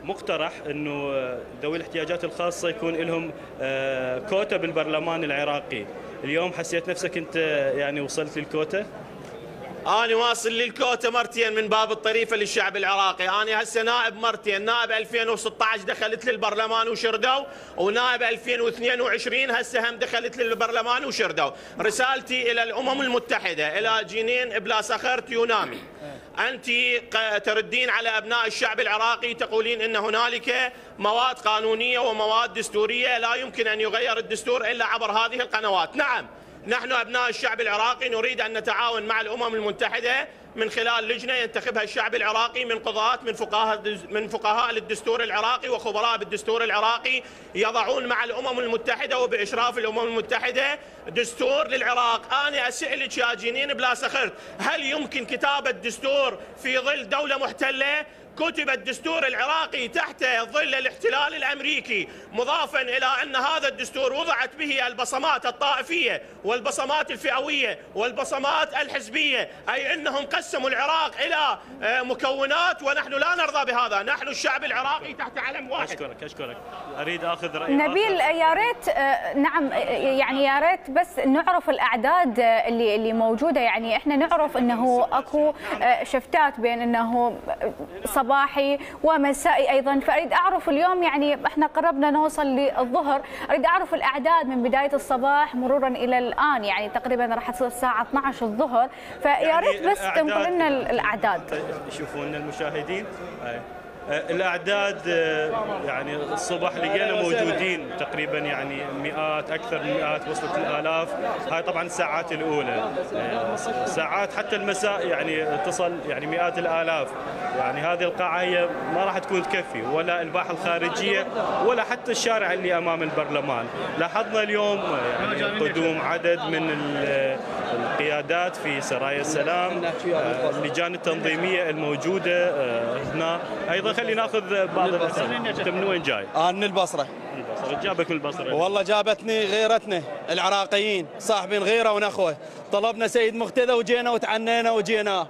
مقترح انه ذوي الاحتياجات الخاصه يكون لهم كوتا بالبرلمان العراقي. اليوم حسيت نفسك انت يعني وصلت للكوتا؟ أنا واصل للكوتا مرتين من باب الطريفة للشعب العراقي. أنا هسه نائب مرتين، نائب ألفين وستة عشر دخلت للبرلمان وشردوا، ونائب ألفين واثنين وعشرين هسه هم دخلت للبرلمان وشردوا. رسالتي إلى الأمم المتحدة، إلى جنين بلا صخر تيونامي، أنت تردين على أبناء الشعب العراقي تقولين أن هنالك مواد قانونية ومواد دستورية لا يمكن أن يغير الدستور إلا عبر هذه القنوات. نعم، نحن أبناء الشعب العراقي نريد أن نتعاون مع الأمم المتحدة من خلال لجنة ينتخبها الشعب العراقي من قضاة من فقهاء من فقهاء للدستور العراقي وخبراء بالدستور العراقي، يضعون مع الأمم المتحدة وبإشراف الأمم المتحدة دستور للعراق. أنا أسألك يا جنين بلا سخرت، هل يمكن كتابة دستور في ظل دولة محتلة؟ كتب الدستور العراقي تحت ظل الاحتلال الأمريكي، مضافا إلى أن هذا الدستور وضعت به البصمات الطائفية والبصمات الفئوية والبصمات الحزبية، أي أنهم قسموا العراق إلى مكونات، ونحن لا نرضى بهذا. نحن الشعب العراقي تحت علم واحد. أشكرك أشكرك أريد أخذ رأي نبيل. يا ريت نعم، يعني يا ريت بس نعرف الأعداد اللي اللي موجودة. يعني إحنا نعرف أنه أكو شفتات بين أنه صباحي ومسائي ايضا، فاريد اعرف اليوم يعني احنا قربنا نوصل للظهر، اريد اعرف الاعداد من بدايه الصباح مرورا الى الان، يعني تقريبا راح تصير الساعه اثنعش الظهر، فيا ريت بس تنقل لنا الاعداد. يشوفون المشاهدين الأعداد، يعني الصبح لقينا موجودين تقريبا يعني مئات، أكثر من مئات، وصلت الآلاف. هاي طبعا الساعات الأولى، ساعات حتى المساء يعني تصل يعني مئات الآلاف. يعني هذه القاعة هي ما راح تكون تكفي، ولا الباحة الخارجية ولا حتى الشارع اللي أمام البرلمان. لاحظنا اليوم يعني قدوم عدد من القيادات في سرايا السلام، اللجان التنظيمية الموجودة هنا. أيضا خلينا ناخذ بعض الأسئلة. أنت من وين جاي؟ أنا من البصرة. البصرة. جابك من البصرة؟ والله جابتني غيرتنا العراقيين، صاحبين غيرة ونخوة. طلبنا سيد مقتدى وجينا وتعنينا وجينا.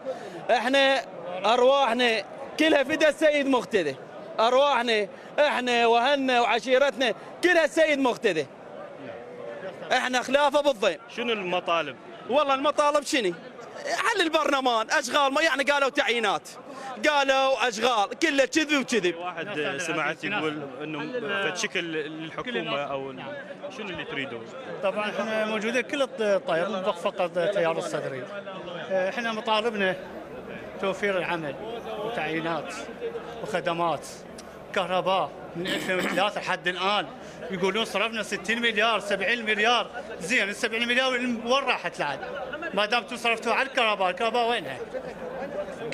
احنا أرواحنا كلها فدا السيد مقتدى، أرواحنا احنا وأهلنا وعشيرتنا كلها السيد مقتدى. احنا خلافه بالضيم. شنو المطالب؟ والله المطالب شنو؟ حل البرلمان، اشغال، ما يعني قالوا تعيينات، قالوا اشغال، كله كذب وكذب. واحد سمعت يقول انه بشكل للحكومه او شنو اللي تريدون؟ طبعا احنا موجودين كل الطير، نطبق فقط تيار الصدري. احنا مطالبنا توفير العمل وتعيينات وخدمات، كهرباء من ألفين وثلاثة لحد الان يقولون صرفنا ستين مليار سبعين مليار. زين ال سبعين مليار وين راحت لعد؟ ما دام انتم صرفتوا على الكهرباء، الكهرباء وينها؟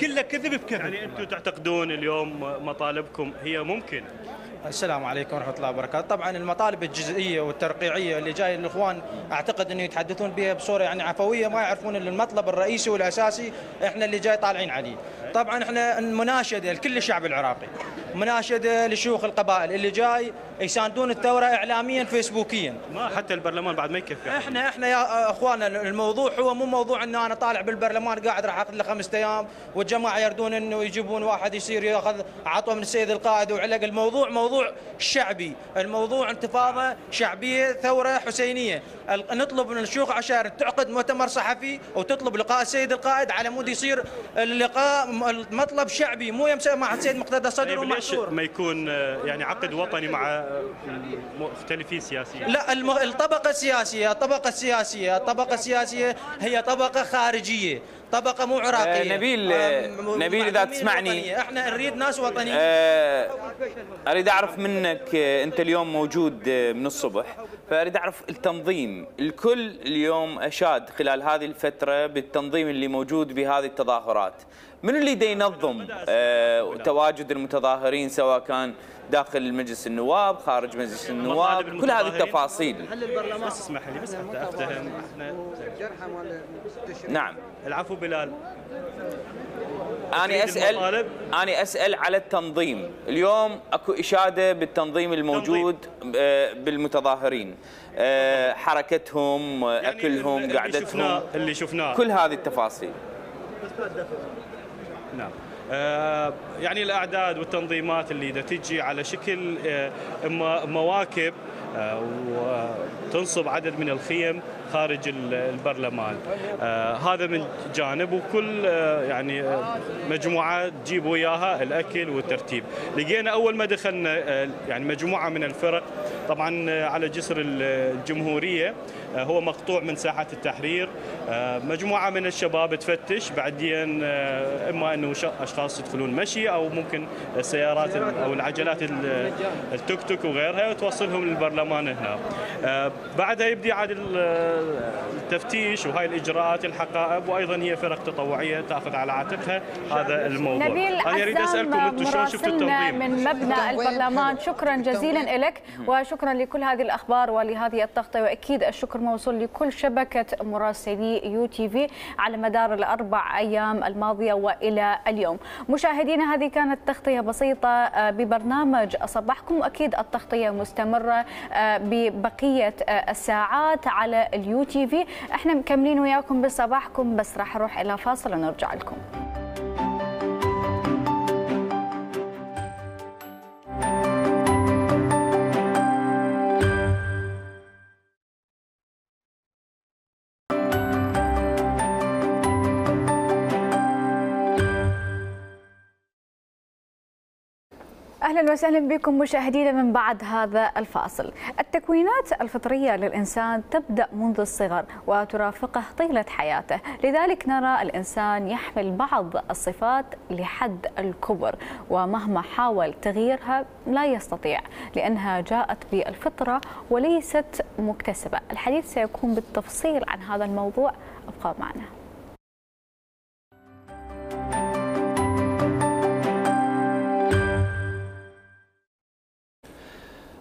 كله كذب بكذب. يعني انتم تعتقدون اليوم مطالبكم هي ممكن السلام عليكم ورحمة الله وبركاته. طبعا المطالب الجزئية والترقيعية اللي جاي الإخوان أعتقد أنه يتحدثون بها بصورة يعني عفوية، ما يعرفون المطلب الرئيسي والأساسي إحنا اللي جاي طالعين عليه. طبعا إحنا مناشدة لكل الشعب العراقي، مناشدة لشيوخ القبائل اللي جاي يساندون الثورة إعلاميا فيسبوكيا. ما حتى البرلمان بعد ما يكفي. إحنا إحنا يا أخواننا الموضوع هو مو موضوع إنه أنا طالع بالبرلمان قاعد راح أخذ له خمسة أيام والجماعة يردون إنه يجيبون واحد يصير ياخذ عطوه من السيد القائد وعلق. الموضوع موضوع شعبي، الموضوع انتفاضة شعبية ثورة حسينية. نطلب من الشيوخ عشائر تعقد مؤتمر صحفي وتطلب لقاء السيد القائد على مود يصير اللقاء مطلب شعبي، مو يمسك مع السيد مقتدى صدر ومحصور. ما يكون يعني عقد وطني مع مختلفين سياسيين؟ لا، الطبقة السياسية الطبقة السياسية الطبقة السياسية هي طبقة خارجية، طبقة مو عراقية. آه نبيل آه نبيل إذا تسمعني وطنية. احنا نريد ناس وطنيين. آه اريد اعرف منك، آه انت اليوم موجود آه من الصبح، فاريد اعرف التنظيم. الكل اليوم اشاد خلال هذه الفترة بالتنظيم اللي موجود بهذه التظاهرات. من اللي دا ينظم آه تواجد المتظاهرين سواء كان داخل مجلس النواب خارج مجلس النواب، كل هذه التفاصيل؟ بس اسمح لي بس حتى افتهم. احنا نعم. العفو بلال. أنا أسأل أنا أسأل على التنظيم. اليوم أكو إشادة بالتنظيم الموجود بالمتظاهرين، حركتهم، يعني أكلهم، اللي قعدتهم، شفناه اللي شفناه كل هذه التفاصيل. نعم. آه يعني الأعداد والتنظيمات اللي دا تجي على شكل آه مواكب آه وتنصب عدد من الخيم خارج البرلمان. آه هذا من جانب، وكل آه يعني آه مجموعة تجيب وياها الأكل والترتيب. لقينا أول ما دخلنا آه يعني مجموعة من الفرق، طبعا آه على جسر الجمهورية آه هو مقطوع من ساحة التحرير. آه مجموعة من الشباب تفتش، بعدين آه إما أنه أشخاص يدخلون مشي أو ممكن السيارات أو العجلات التوك توك وغيرها وتوصلهم للبرلمان هنا. آه بعدها يبدي عاد التفتيش وهاي الاجراءات الحقائب، وايضا هي فرق تطوعيه تاخذ على عاتقها هذا الموضوع. نبيل انا اريد اسالكم انتم شلون شفتوا التنظيم من مبنى البرلمان؟ شكرا جزيلا لك وشكرا لكل هذه الاخبار ولهذه التغطيه، واكيد الشكر موصول لكل شبكه مراسلي يو تي في على مدار الاربع ايام الماضيه والى اليوم. مشاهدينا، هذه كانت تغطيه بسيطه ببرنامج صباحكم، واكيد التغطيه مستمره ببقيه الساعات على اليو تي في. احنا مكملين وياكم بصباحكم، بس راح اروح الى فاصل ونرجع لكم. أهلا وسهلا بكم مشاهدينا من بعد هذا الفاصل. التكوينات الفطرية للإنسان تبدأ منذ الصغر وترافقه طيلة حياته، لذلك نرى الإنسان يحمل بعض الصفات لحد الكبر، ومهما حاول تغييرها لا يستطيع لأنها جاءت بالفطرة وليست مكتسبة. الحديث سيكون بالتفصيل عن هذا الموضوع، ابقوا معنا.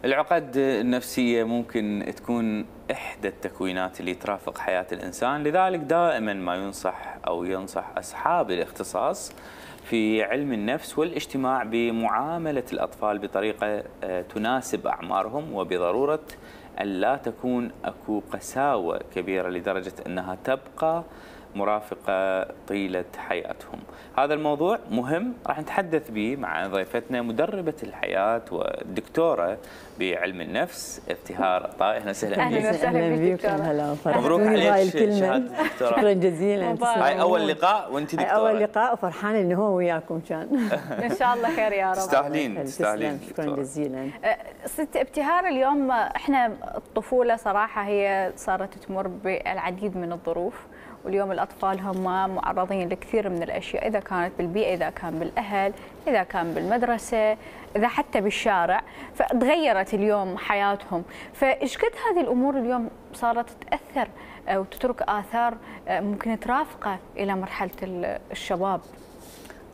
العقد النفسية ممكن تكون إحدى التكوينات اللي ترافق حياة الإنسان، لذلك دائما ما ينصح أو ينصح أصحاب الاختصاص في علم النفس والاجتماع بمعاملة الأطفال بطريقة تناسب أعمارهم، وبضرورة أن لا تكون أكو قساوة كبيرة لدرجة أنها تبقى مرافقة طيلة حياتهم. هذا الموضوع مهم راح نتحدث به مع ضيفتنا مدربة الحياة والدكتورة بعلم النفس ابتهار طائي. اهلا وسهلا بك. اهلا وسهلا بك. هلا مبروك عليك شهادة الدكتوراه. شكرا جزيلا. هاي اول لقاء وانت دكتورة. اول لقاء وفرحانه انه هو وياكم كان. ان شاء الله خير يا رب. تستاهلين تستاهلين. شكرا جزيلا. ست ابتهار، اليوم احنا الطفولة صراحة هي صارت تمر بالعديد من الظروف، واليوم الأطفال هم معرضين لكثير من الأشياء، إذا كانت بالبيئة، إذا كان بالأهل، إذا كان بالمدرسة، إذا حتى بالشارع، فتغيرت اليوم حياتهم. فإيش قد هذه الأمور اليوم صارت تأثر وتترك آثار ممكن ترافقه إلى مرحلة الشباب؟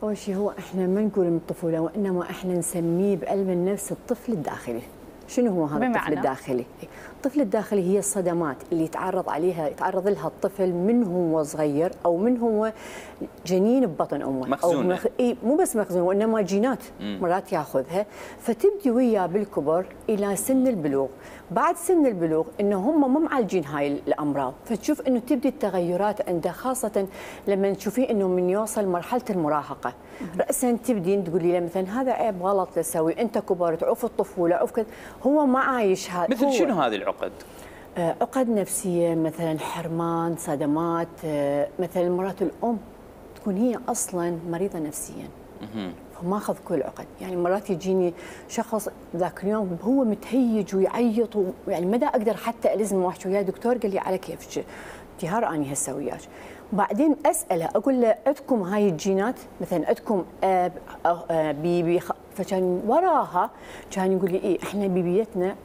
اول شيء هو احنا ما نقول من الطفوله، وانما احنا نسميه بعلم النفس الطفل الداخلي. شنو هو هذا الطفل الداخلي؟ الطفل الداخلي هي الصدمات اللي يتعرض عليها يتعرض لها الطفل من هو صغير او من هو جنين ببطن امه. مخزونه. او مخ... اي مو بس مخزون وانما جينات مرات ياخذها، فتبدي وياه بالكبر الى سن البلوغ. بعد سن البلوغ انه هم مو معالجين هاي الامراض، فتشوف انه تبدي التغيرات عنده، خاصه لما تشوفيه انه من يوصل مرحله المراهقه راسا تبدي تقولي له مثلا هذا عيب غلط تسوي، انت كبرت عوف الطفوله عوف كذا، هو ما عايش هذا. مثل شنو هذه العقد؟ آه عقد نفسيه مثلا، حرمان، صدمات. آه مثلا مرات الام تكون هي اصلا مريضه نفسيا فماخذ كل العقد. يعني مرات يجيني شخص ذاك اليوم هو متهيج ويعيط، يعني ما دا اقدر حتى الزم واحكي وياه دكتور قال لي على كيفك انتهار اني هسه وياك. بعدين اساله اقول له عندكم هاي الجينات مثلا، عندكم اب بيبي؟ فكان وراها كان يقول لي ايه احنا بيبيتنا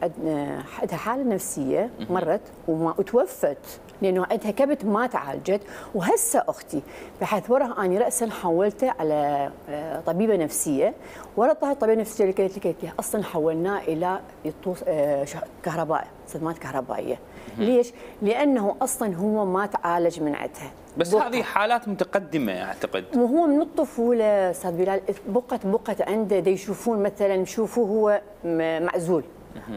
عندها حاله نفسيه مرت وما وتوفت لانه عندها كبت ما تعالجت، وهسه اختي بحيث وراها اني راسا حولته على طبيبه نفسيه، ورا طلعت طبيبه نفسيه اللي قالت لي قالت لي اصلا حولناه الى يطوس كهرباء، صدمات كهربائيه. ليش؟ لانه اصلا هو ما تعالج من عندها. بس هذه حالات متقدمه اعتقد. وهو من الطفوله استاذ بلال بقت بقت عنده دا يشوفون مثلا يشوفوه هو معزول،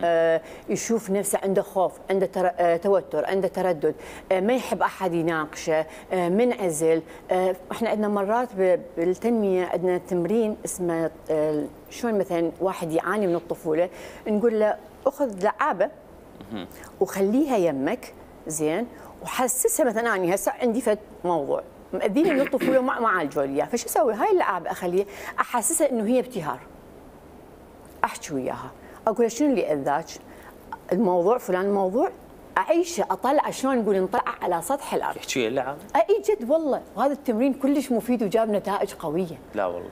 آه يشوف نفسه عنده خوف، عنده تر... آه توتر، عنده تردد، آه ما يحب احد يناقشه، آه منعزل. آه احنا عندنا مرات بالتنميه عندنا تمرين اسمه آه شلون مثلا واحد يعاني من الطفوله نقول له اخذ لعابه وخليها يمك زين، وحسسها مثلا اني هسه عندي فد موضوع مأذيني من الطفوله وما ما عالجوا لي اياه، فش اسوي؟ هاي اللعابه اخليها احسسها انه هي ابتهار. احكي وياها اقول شنو اللي اذاك؟ الموضوع فلان موضوع، اعيشه اطلع شلون نقول نطلع على سطح الارض. تحكي اللعب؟ اي جد والله، وهذا التمرين كلش مفيد وجاب نتائج قويه. لا والله.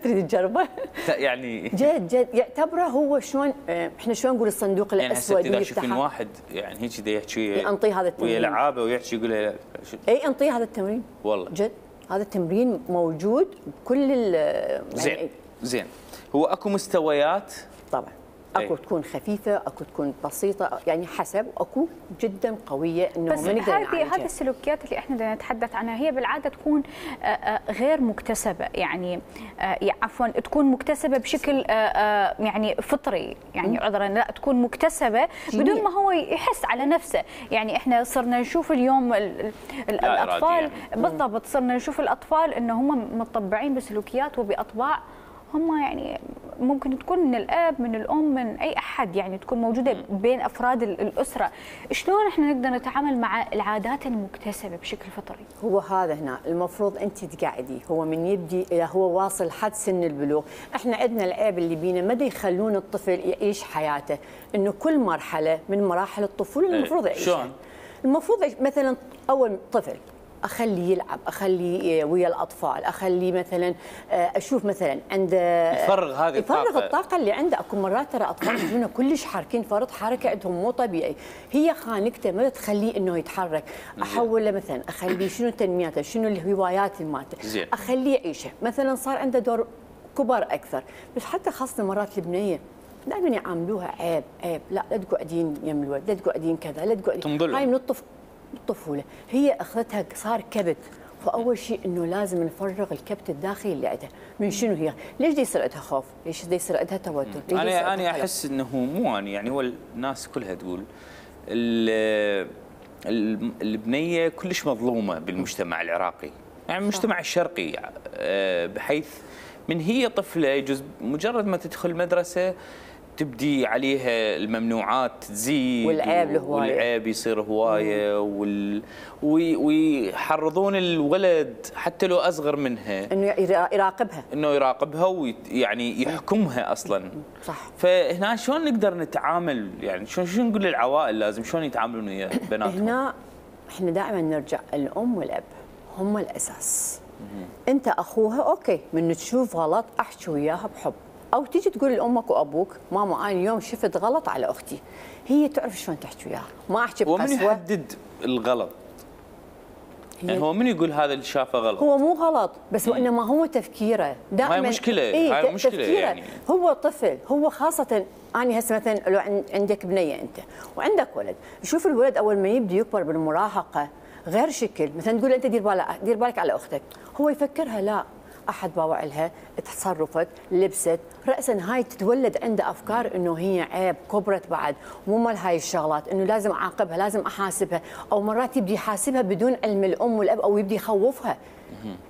تريد تجربه؟ لا يعني جد جد يعتبره هو شلون احنا شلون نقول الصندوق الاسود يعني هسه اذا واحد يعني هيك دا يحكي انطيه هذا التمرين ويا لعابه ويحكي يقول له اي انطيه هذا التمرين والله جد. هذا التمرين موجود بكل ال زين يعني زين. هو اكو مستويات طبعا، اكو أي. تكون خفيفه، اكو تكون بسيطه، يعني حسب، اكو جدا قويه انه بس هذه هذه السلوكيات اللي احنا بدنا نتحدث عنها هي بالعاده تكون غير مكتسبه، يعني عفوا تكون مكتسبه بشكل يعني فطري، يعني عذرا لا تكون مكتسبه بدون ما هو يحس على نفسه. يعني احنا صرنا نشوف اليوم الاطفال يعني. بالضبط صرنا نشوف الاطفال انه هم متطبعين بسلوكيات وباطباع هم يعني ممكن تكون من الاب من الام من اي احد، يعني تكون موجوده بين افراد الاسره. شلون احنا نقدر نتعامل مع العادات المكتسبه بشكل فطري؟ هو هذا هنا المفروض انت تقعدي، هو من يبدي الى هو واصل حد سن البلوغ. احنا عندنا العيب اللي بينا ما يخلون الطفل يعيش حياته، انه كل مرحله من مراحل الطفوله المفروض يعيشها. شلون؟ المفروض مثلا اول طفل اخليه يلعب، اخليه ويا الاطفال، اخليه مثلا اشوف مثلا عنده يفرغ هذه الطاقه، يفرغ الطاقه اللي عنده. اكو مرات ترى اطفال يجونا كلش حاركين فرط حركه عندهم مو طبيعي، هي خانقته ما تخليه انه يتحرك. احوله مثلا اخليه شنو تنمياته، شنو الهوايات مالته، اخليه يعيشه. مثلا صار عنده دور كبر اكثر، بس حتى خاصه مرات البنيه دائما يعاملوها عيب عيب، لا لا تقعدين يم الولد، لا تقعدين كذا، لا تقعدين. هاي من الطفل الطفوله هي اخذتها صار كبت. فاول شيء انه لازم نفرغ الكبت الداخلي اللي عندها. من شنو هي؟ ليش دي يصير عندها خوف؟ ليش دي يصير عندها توتر؟ انا انا احس انه مو انا يعني هو الناس كلها تقول البنيه كلش مظلومه بالمجتمع العراقي، يعني المجتمع الشرقي، بحيث من هي طفله يجوز مجرد ما تدخل مدرسه تبدي عليها الممنوعات تزيد، والعيب الهوايه، والعيب يصير هوايه، وال... ويحرضون الولد حتى لو اصغر منها انه يراقبها، انه يراقبها ويعني يحكمها اصلا. صح. فهنا شلون نقدر نتعامل، يعني شلون شلون نقول للعوائل لازم شلون يتعاملون ويا بناتهم؟ هنا احنا دائما نرجع الام والاب هم الاساس. انت اخوها اوكي، من تشوف غلط احكي وياها بحب، او تيجي تقول لامك وابوك ماما انا اليوم شفت غلط على اختي، هي تعرف شلون تحكي وياها، ما احكي بقسوه. ومن يحدد الغلط؟ يعني هو من يقول هذا اللي شافه غلط؟ هو مو غلط، بس وانما هو تفكيره دائما. هاي مشكله، إيه هاي مشكله تفكيره. يعني. هو طفل، هو خاصه اني هسه مثلا لو عندك بنيه انت وعندك ولد، شوف الولد اول ما يبدا يكبر بالمراهقه غير شكل، مثلا تقول انت دير بالك دير بالك على اختك، هو يفكرها لا احد باوع لها تصرفت لبست راسا، هاي تتولد عنده افكار انه هي عيب، كبرت بعد مو مال هاي الشغلات، انه لازم اعاقبها لازم احاسبها، او مرات يبدي يحاسبها بدون علم الام والاب او يبدي يخوفها.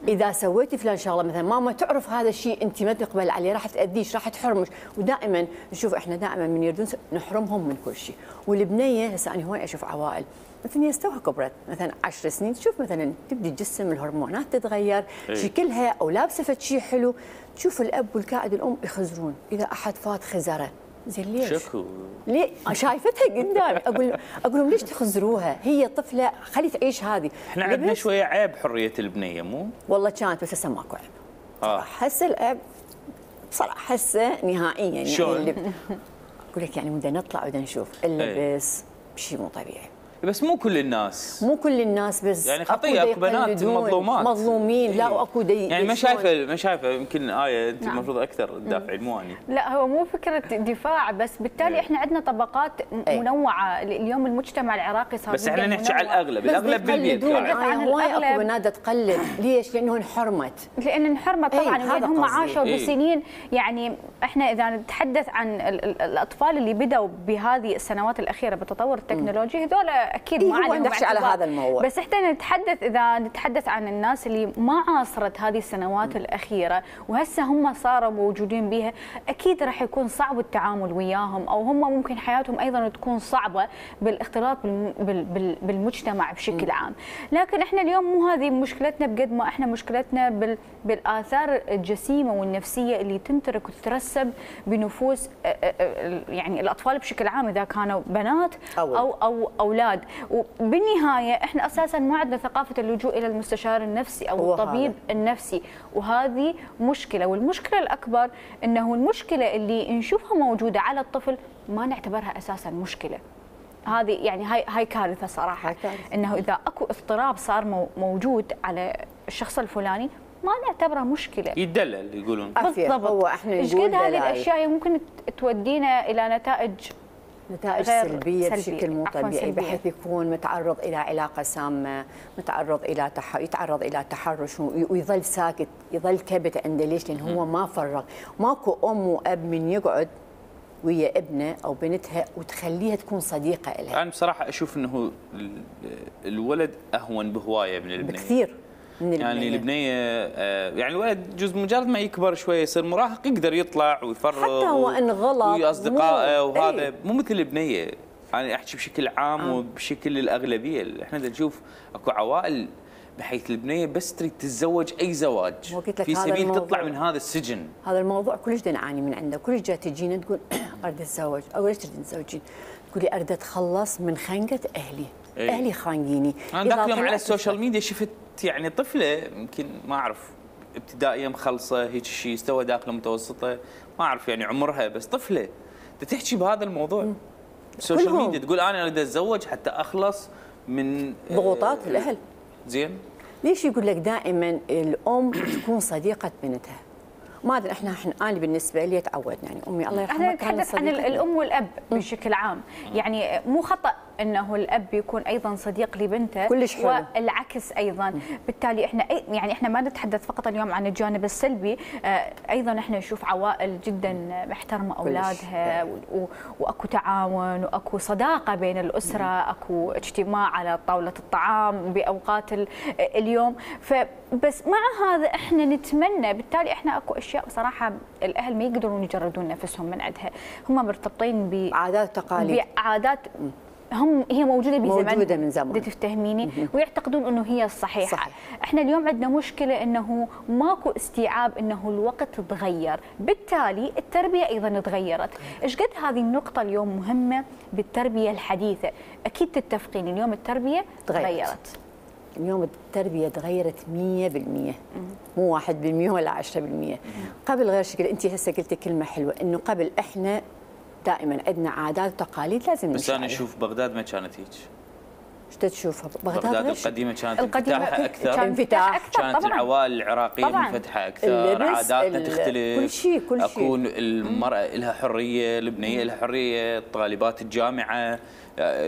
اذا سويتي فلان شغله مثلا ماما تعرف هذا الشيء انت ما تقبل عليه راح تاذيش راح تحرمش، ودائما نشوف احنا دائما من يردون نحرمهم من كل شيء، والبنيه هسه انا هواي اشوف عوائل مثلا هي توها كبرت مثلا عشر سنين تشوف مثلا تبدي الجسم الهرمونات تتغير إيه. شكلها او لابسه فد شيء حلو، تشوف الاب والكائد الام يخزرون، اذا احد فات خزره زين ليش؟ شكو ليه؟ شايفتها قدامي اقول اقول لهم ليش تخزروها؟ هي طفله خلي تعيش هذه. احنا عندنا شويه عيب حريه البنيه مو؟ والله كانت بس هسه ماكو عيب. اه هسه العيب بصراحه هسه نهائيا يعني شلون؟ اللي اقول لك يعني بدنا نطلع بدنا نشوف اللبس شيء مو طبيعي. بس مو كل الناس، مو كل الناس بس يعني خطيه اكو بنات مظلومات مظلومين لا واكو دي يعني ما شايفه ما شايفه يمكن آية انت نعم. المفروض اكثر تدافعين مو اني. لا هو مو فكره دفاع، بس بالتالي احنا عندنا طبقات منوعه، اليوم المجتمع العراقي صار بس احنا نحكي على الاغلب، الاغلب بالبيت يعني عن هواي اكو بنات تقلد، ليش؟ لانه انحرمت، لان انحرمت طبعا لان هم عاشوا إيه. بسنين، يعني احنا اذا نتحدث عن الاطفال اللي بدأوا بهذه السنوات الاخيره بالتطور التكنولوجي هذول اكيد ما عندهم نحكي على هذا الموضوع، بس احنا نتحدث اذا نتحدث عن الناس اللي ما عاصرت هذه السنوات الاخيره وهسه هم صاروا موجودين بها، اكيد راح يكون صعب التعامل وياهم، او هم ممكن حياتهم ايضا تكون صعبه بالاختلاط بالمجتمع بشكل عام، لكن احنا اليوم مو هذه مشكلتنا بقد ما احنا مشكلتنا بالاثار الجسيمه والنفسيه اللي تنترك وتترسب بنفوس يعني الاطفال بشكل عام، اذا كانوا بنات او او, أو اولاد. بالنهايه احنا اساسا ما عندنا ثقافه اللجوء الى المستشار النفسي او الطبيب هذا. النفسي، وهذه مشكله، والمشكله الاكبر انه المشكله اللي نشوفها موجوده على الطفل ما نعتبرها اساسا مشكله. هذه يعني هاي هاي كارثه صراحه، كارثة. انه اذا اكو اضطراب صار موجود على الشخص الفلاني ما نعتبرها مشكله، يدلل يقولون بالضبط. هو احنا ايش قد هذه الاشياء ممكن تودينا الى نتائج نتائج سلبية بشكل مو طبيعي، بحيث يكون متعرض إلى علاقة سامة، متعرض إلى تح... يتعرض إلى تحرش ويظل ساكت، يظل كبت عنده، ليش؟ لأن هو ما فرغ، ماكو أم وأب من يقعد ويا ابنه أو بنتها وتخليها تكون صديقة لها. أنا يعني بصراحة أشوف أنه الولد أهون بهواية من البنية بكثير من البنية. يعني البنية يعني الولد جزء مجرد ما يكبر شوية يصير مراهق يقدر يطلع ويفرغ حتى هو إن غلط ويا أصدقائه وهذا ايه؟ مو مثل البنية. أنا أحكي بشكل عام آه. وبشكل الأغلبية، إحنا نشوف أكو عوائل بحيث البنية بس تريد تتزوج أي زواج في سبيل تطلع من هذا السجن. هذا الموضوع كلش نعاني من عنده، كلش جات تجينا تقول أريد أتزوج، أو ليش تريد تتزوجين؟ تقولي أريد أتخلص من خنقة أهلي، ايه؟ أهلي خانقيني. أنا ذاك اليوم على السوشيال ميديا شفت يعني طفلة يمكن ما أعرف ابتدائية مخلصة هيك شيء، استوى داخله متوسطة ما أعرف يعني عمرها، بس طفلة تحكي بهذا الموضوع السوشيال ميديا، تقول أنا أريد أتزوج حتى أخلص من ضغوطات آه الأهل. زين ليش يقول لك دائما الأم تكون صديقة بنتها؟ ما ادري احنا احنا انا بالنسبه لي تعودنا يعني امي الله يرحمها كانت نتحدث عن الام والاب بشكل عام، يعني مو خطا انه الاب يكون ايضا صديق لبنته كلش حلو والعكس ايضا، بالتالي احنا يعني احنا ما نتحدث فقط اليوم عن الجانب السلبي، ايضا احنا نشوف عوائل جدا محترمه اولادها واكو تعاون واكو صداقه بين الاسره، اكو اجتماع على طاوله الطعام باوقات اليوم، فبس مع هذا احنا نتمنى، بالتالي احنا اكو اشياء بصراحه الاهل ما يقدرون يجردون نفسهم من عندها، هم مرتبطين بعادات وتقاليد بعادات هم هي موجوده بزمان موجوده من زمان، تفتهميني، ويعتقدون انه هي الصحيحه. صحيح. احنا اليوم عندنا مشكله انه ماكو استيعاب انه الوقت تغير، بالتالي التربيه ايضا تغيرت. ايش قد هذه النقطه اليوم مهمه بالتربيه الحديثه، اكيد تتفقين اليوم التربيه تغيرت. اليوم التربية تغيرت مية بالمية، مو واحد بالمية ولا عشرة بالمية. قبل غير شكل، أنت هسه قلتي كلمة حلوة، إنه قبل إحنا دائما عندنا عادات وتقاليد لازم بس أنا أشوف بغداد ما كانت هيك. ايش تشوفها؟ بغداد القديمه كانت القديمة انفتاحها اكثر، كان انفتاح أكثر كانت طبعاً. العوائل العراقيه طبعاً. منفتحه اكثر، عاداتنا تختلف، كل شيء كل شيء. اكو المراه لها حريه، البنيه لها حريه، طالبات الجامعه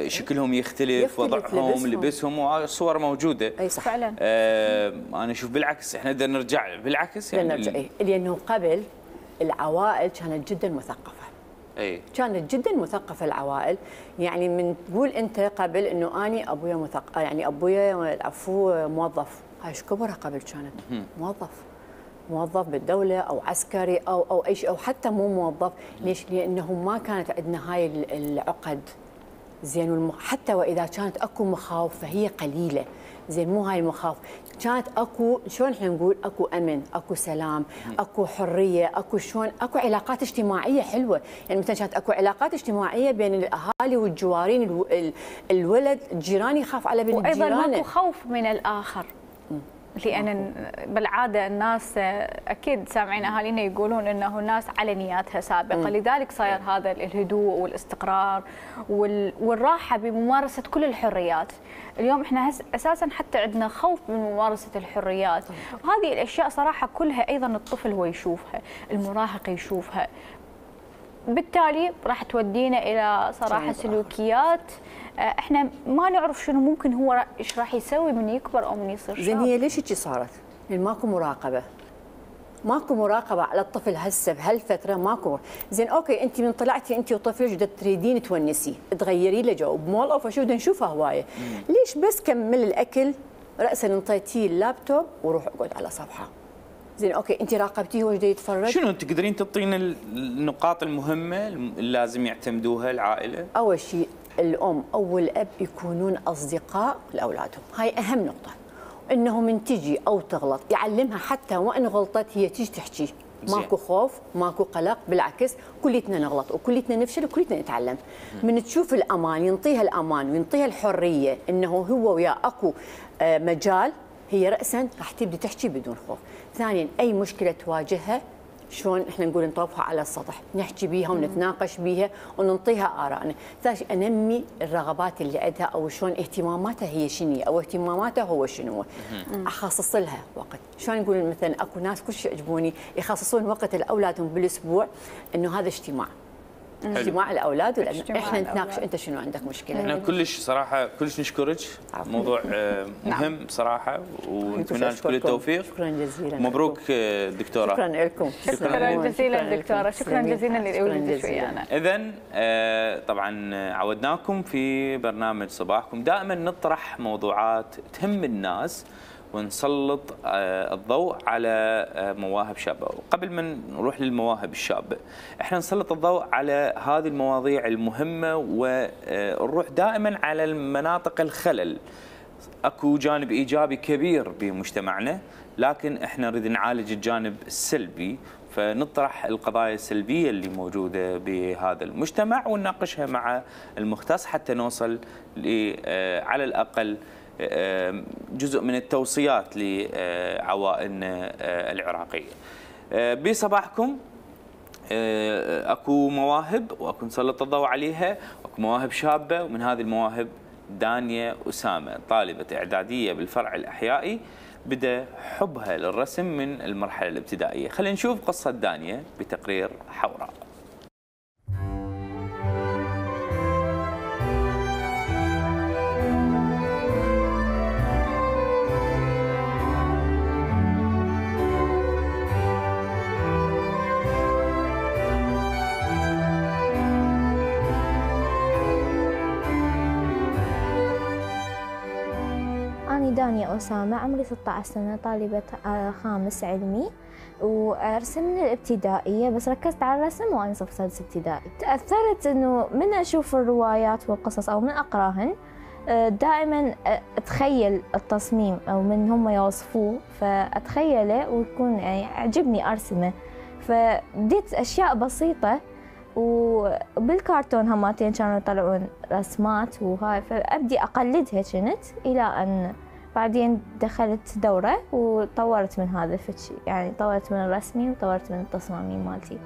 شكلهم يختلف, يختلف وضعهم لبسهم, لبسهم والصور موجوده. اي صح فعلا. آه انا اشوف بالعكس احنا بدنا نرجع بالعكس يعني نرجع إيه؟ لانه قبل العوائل كانت جدا مثقفه. اي كانت جدا مثقفه العوائل، يعني من تقول انت قبل انه اني ابويا مثقف، يعني ابويا العفو موظف، هاي ايش كبرها قبل كانت موظف موظف بالدوله او عسكري او او اي شيء، او حتى مو موظف. ليش؟ لانه ما كانت عندنا هاي العقد. زين والمخ... حتى واذا كانت اكو مخاوف فهي قليله. زين مو هاي المخاوف، كانت اكو شلون احنا نقول اكو امن، اكو سلام، اكو حريه، اكو شلون اكو علاقات اجتماعيه حلوه، يعني مثلا كانت اكو علاقات اجتماعيه بين الاهالي والجوارين، الو... الولد الجيران يخاف على بنت جيرانه، وايضا ماكو خوف من الاخر. لان بالعاده الناس اكيد سامعين اهالينا يقولون انه الناس على نياتها سابقه، م. لذلك صاير هذا الهدوء والاستقرار والراحه بممارسه كل الحريات. اليوم احنا اساسا حتى عندنا خوف من ممارسه الحريات، وهذه الاشياء صراحه كلها ايضا الطفل هو يشوفها، المراهق يشوفها، بالتالي راح تودينا الى صراحه سلوكيات احنا ما نعرف شنو ممكن هو ايش راح يسوي من يكبر او من يصير شاب. زين هي ليش هيك صارت؟ لان ماكو مراقبه. ماكو مراقبه على الطفل هسه بهالفتره ماكو. زين اوكي انت من طلعتي انت وطفلك بدك تريدين تونسيه، تغيري له جو بمول او فشو بدنا نشوفها هوايه. ليش بس كمل الاكل راسا انطيتيه اللابتوب وروح اقعد على صفحه. زين اوكي انت راقبتيه هو جاي يتفرج؟ شنو تقدرين تعطينا النقاط المهمه اللي لازم يعتمدوها العائله؟ اول شيء الام او الاب يكونون اصدقاء لاولادهم، هاي اهم نقطه. انه من تجي او تغلط يعلمها حتى وان غلطت هي تيجي تحكي، ماكو خوف، ماكو قلق، بالعكس كليتنا نغلط وكليتنا نفشل وكليتنا نتعلم. من تشوف الامان ينطيها الامان وينطيها الحريه انه هو ويا اكو مجال، هي راسا راح تبدي تحكي بدون خوف. ثانيا اي مشكله تواجهها شلون احنا نقول نطوفها على السطح، نحكي بيها ونتناقش بيها وننطيها ارائنا. ثالث شيء انمي الرغبات اللي عندها او شلون اهتماماتها هي شنو او اهتماماتها هو شنو. اخصص لها وقت، شلون نقول مثلا اكو ناس كل شيء يعجبوني يخصصون وقت لاولادهم بالاسبوع انه هذا اجتماع. حلو. اجتماع الاولاد ولأن احنا نتناقش انت شنو عندك مشكله. احنا كلش صراحه كلش نشكرك، موضوع مهم صراحه ونتمنى لك كل التوفيق. شكرا جزيلا. مبروك دكتوره. شكرا لكم. شكرا جزيلا دكتوره، شكرا جزيلا لوجودك ويانا. اذا طبعا عودناكم في برنامج صباحكم دائما نطرح موضوعات تهم الناس ونسلط الضوء على مواهب شابه. وقبل ما نروح للمواهب الشابه احنا نسلط الضوء على هذه المواضيع المهمه ونروح دائما على المناطق الخلل. اكو جانب ايجابي كبير بمجتمعنا، لكن احنا نريد نعالج الجانب السلبي، فنطرح القضايا السلبيه اللي موجوده بهذا المجتمع ونناقشها مع المختص حتى نوصل على الاقل جزء من التوصيات لعوائلنا العراقية. بصباحكم اكو مواهب واكو نسلط الضوء عليها، اكو مواهب شابة، ومن هذه المواهب دانية أسامة طالبة إعدادية بالفرع الأحيائي بدأ حبها للرسم من المرحلة الابتدائية. خلينا نشوف قصة دانية بتقرير حوراء. دانية أسامة، عمري ستة عشر سنة، طالبة خامس علمي، وأرسم من الابتدائية، بس ركزت على الرسم وأنا صف سادس ابتدائي. تأثرت إنه من أشوف الروايات والقصص أو من أقراهن دائما أتخيل التصميم أو من هم يوصفوه فأتخيله ويكون يعني عجبني أرسمه، فبديت أشياء بسيطة وبالكرتون هماتين كانوا يطلعون رسمات وهاي، فأبدي أقلدها كنت إلى أن بعدين دخلت دورة وطورت من هذا الشيء، يعني طورت من رسمي وطورت من التصاميم مالتي.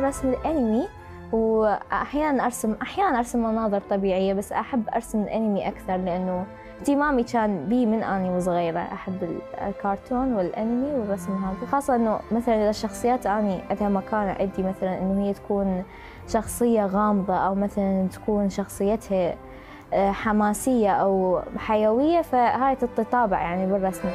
الرسم الأنمي، وأحيانا أرسم أحيانا أرسم مناظر طبيعية، بس أحب أرسم الأنمي أكثر لأنه اهتمامي كان بي من أني وصغيرة. أحب الكرتون والأنمي والرسم هذا، خاصة إنه مثلا إذا الشخصيات أني عندها مكانة عندي، مثلا إنه هي تكون شخصية غامضة أو مثلا تكون شخصيتها حماسية أو حيوية، فهاي تتطابع يعني بالرسم.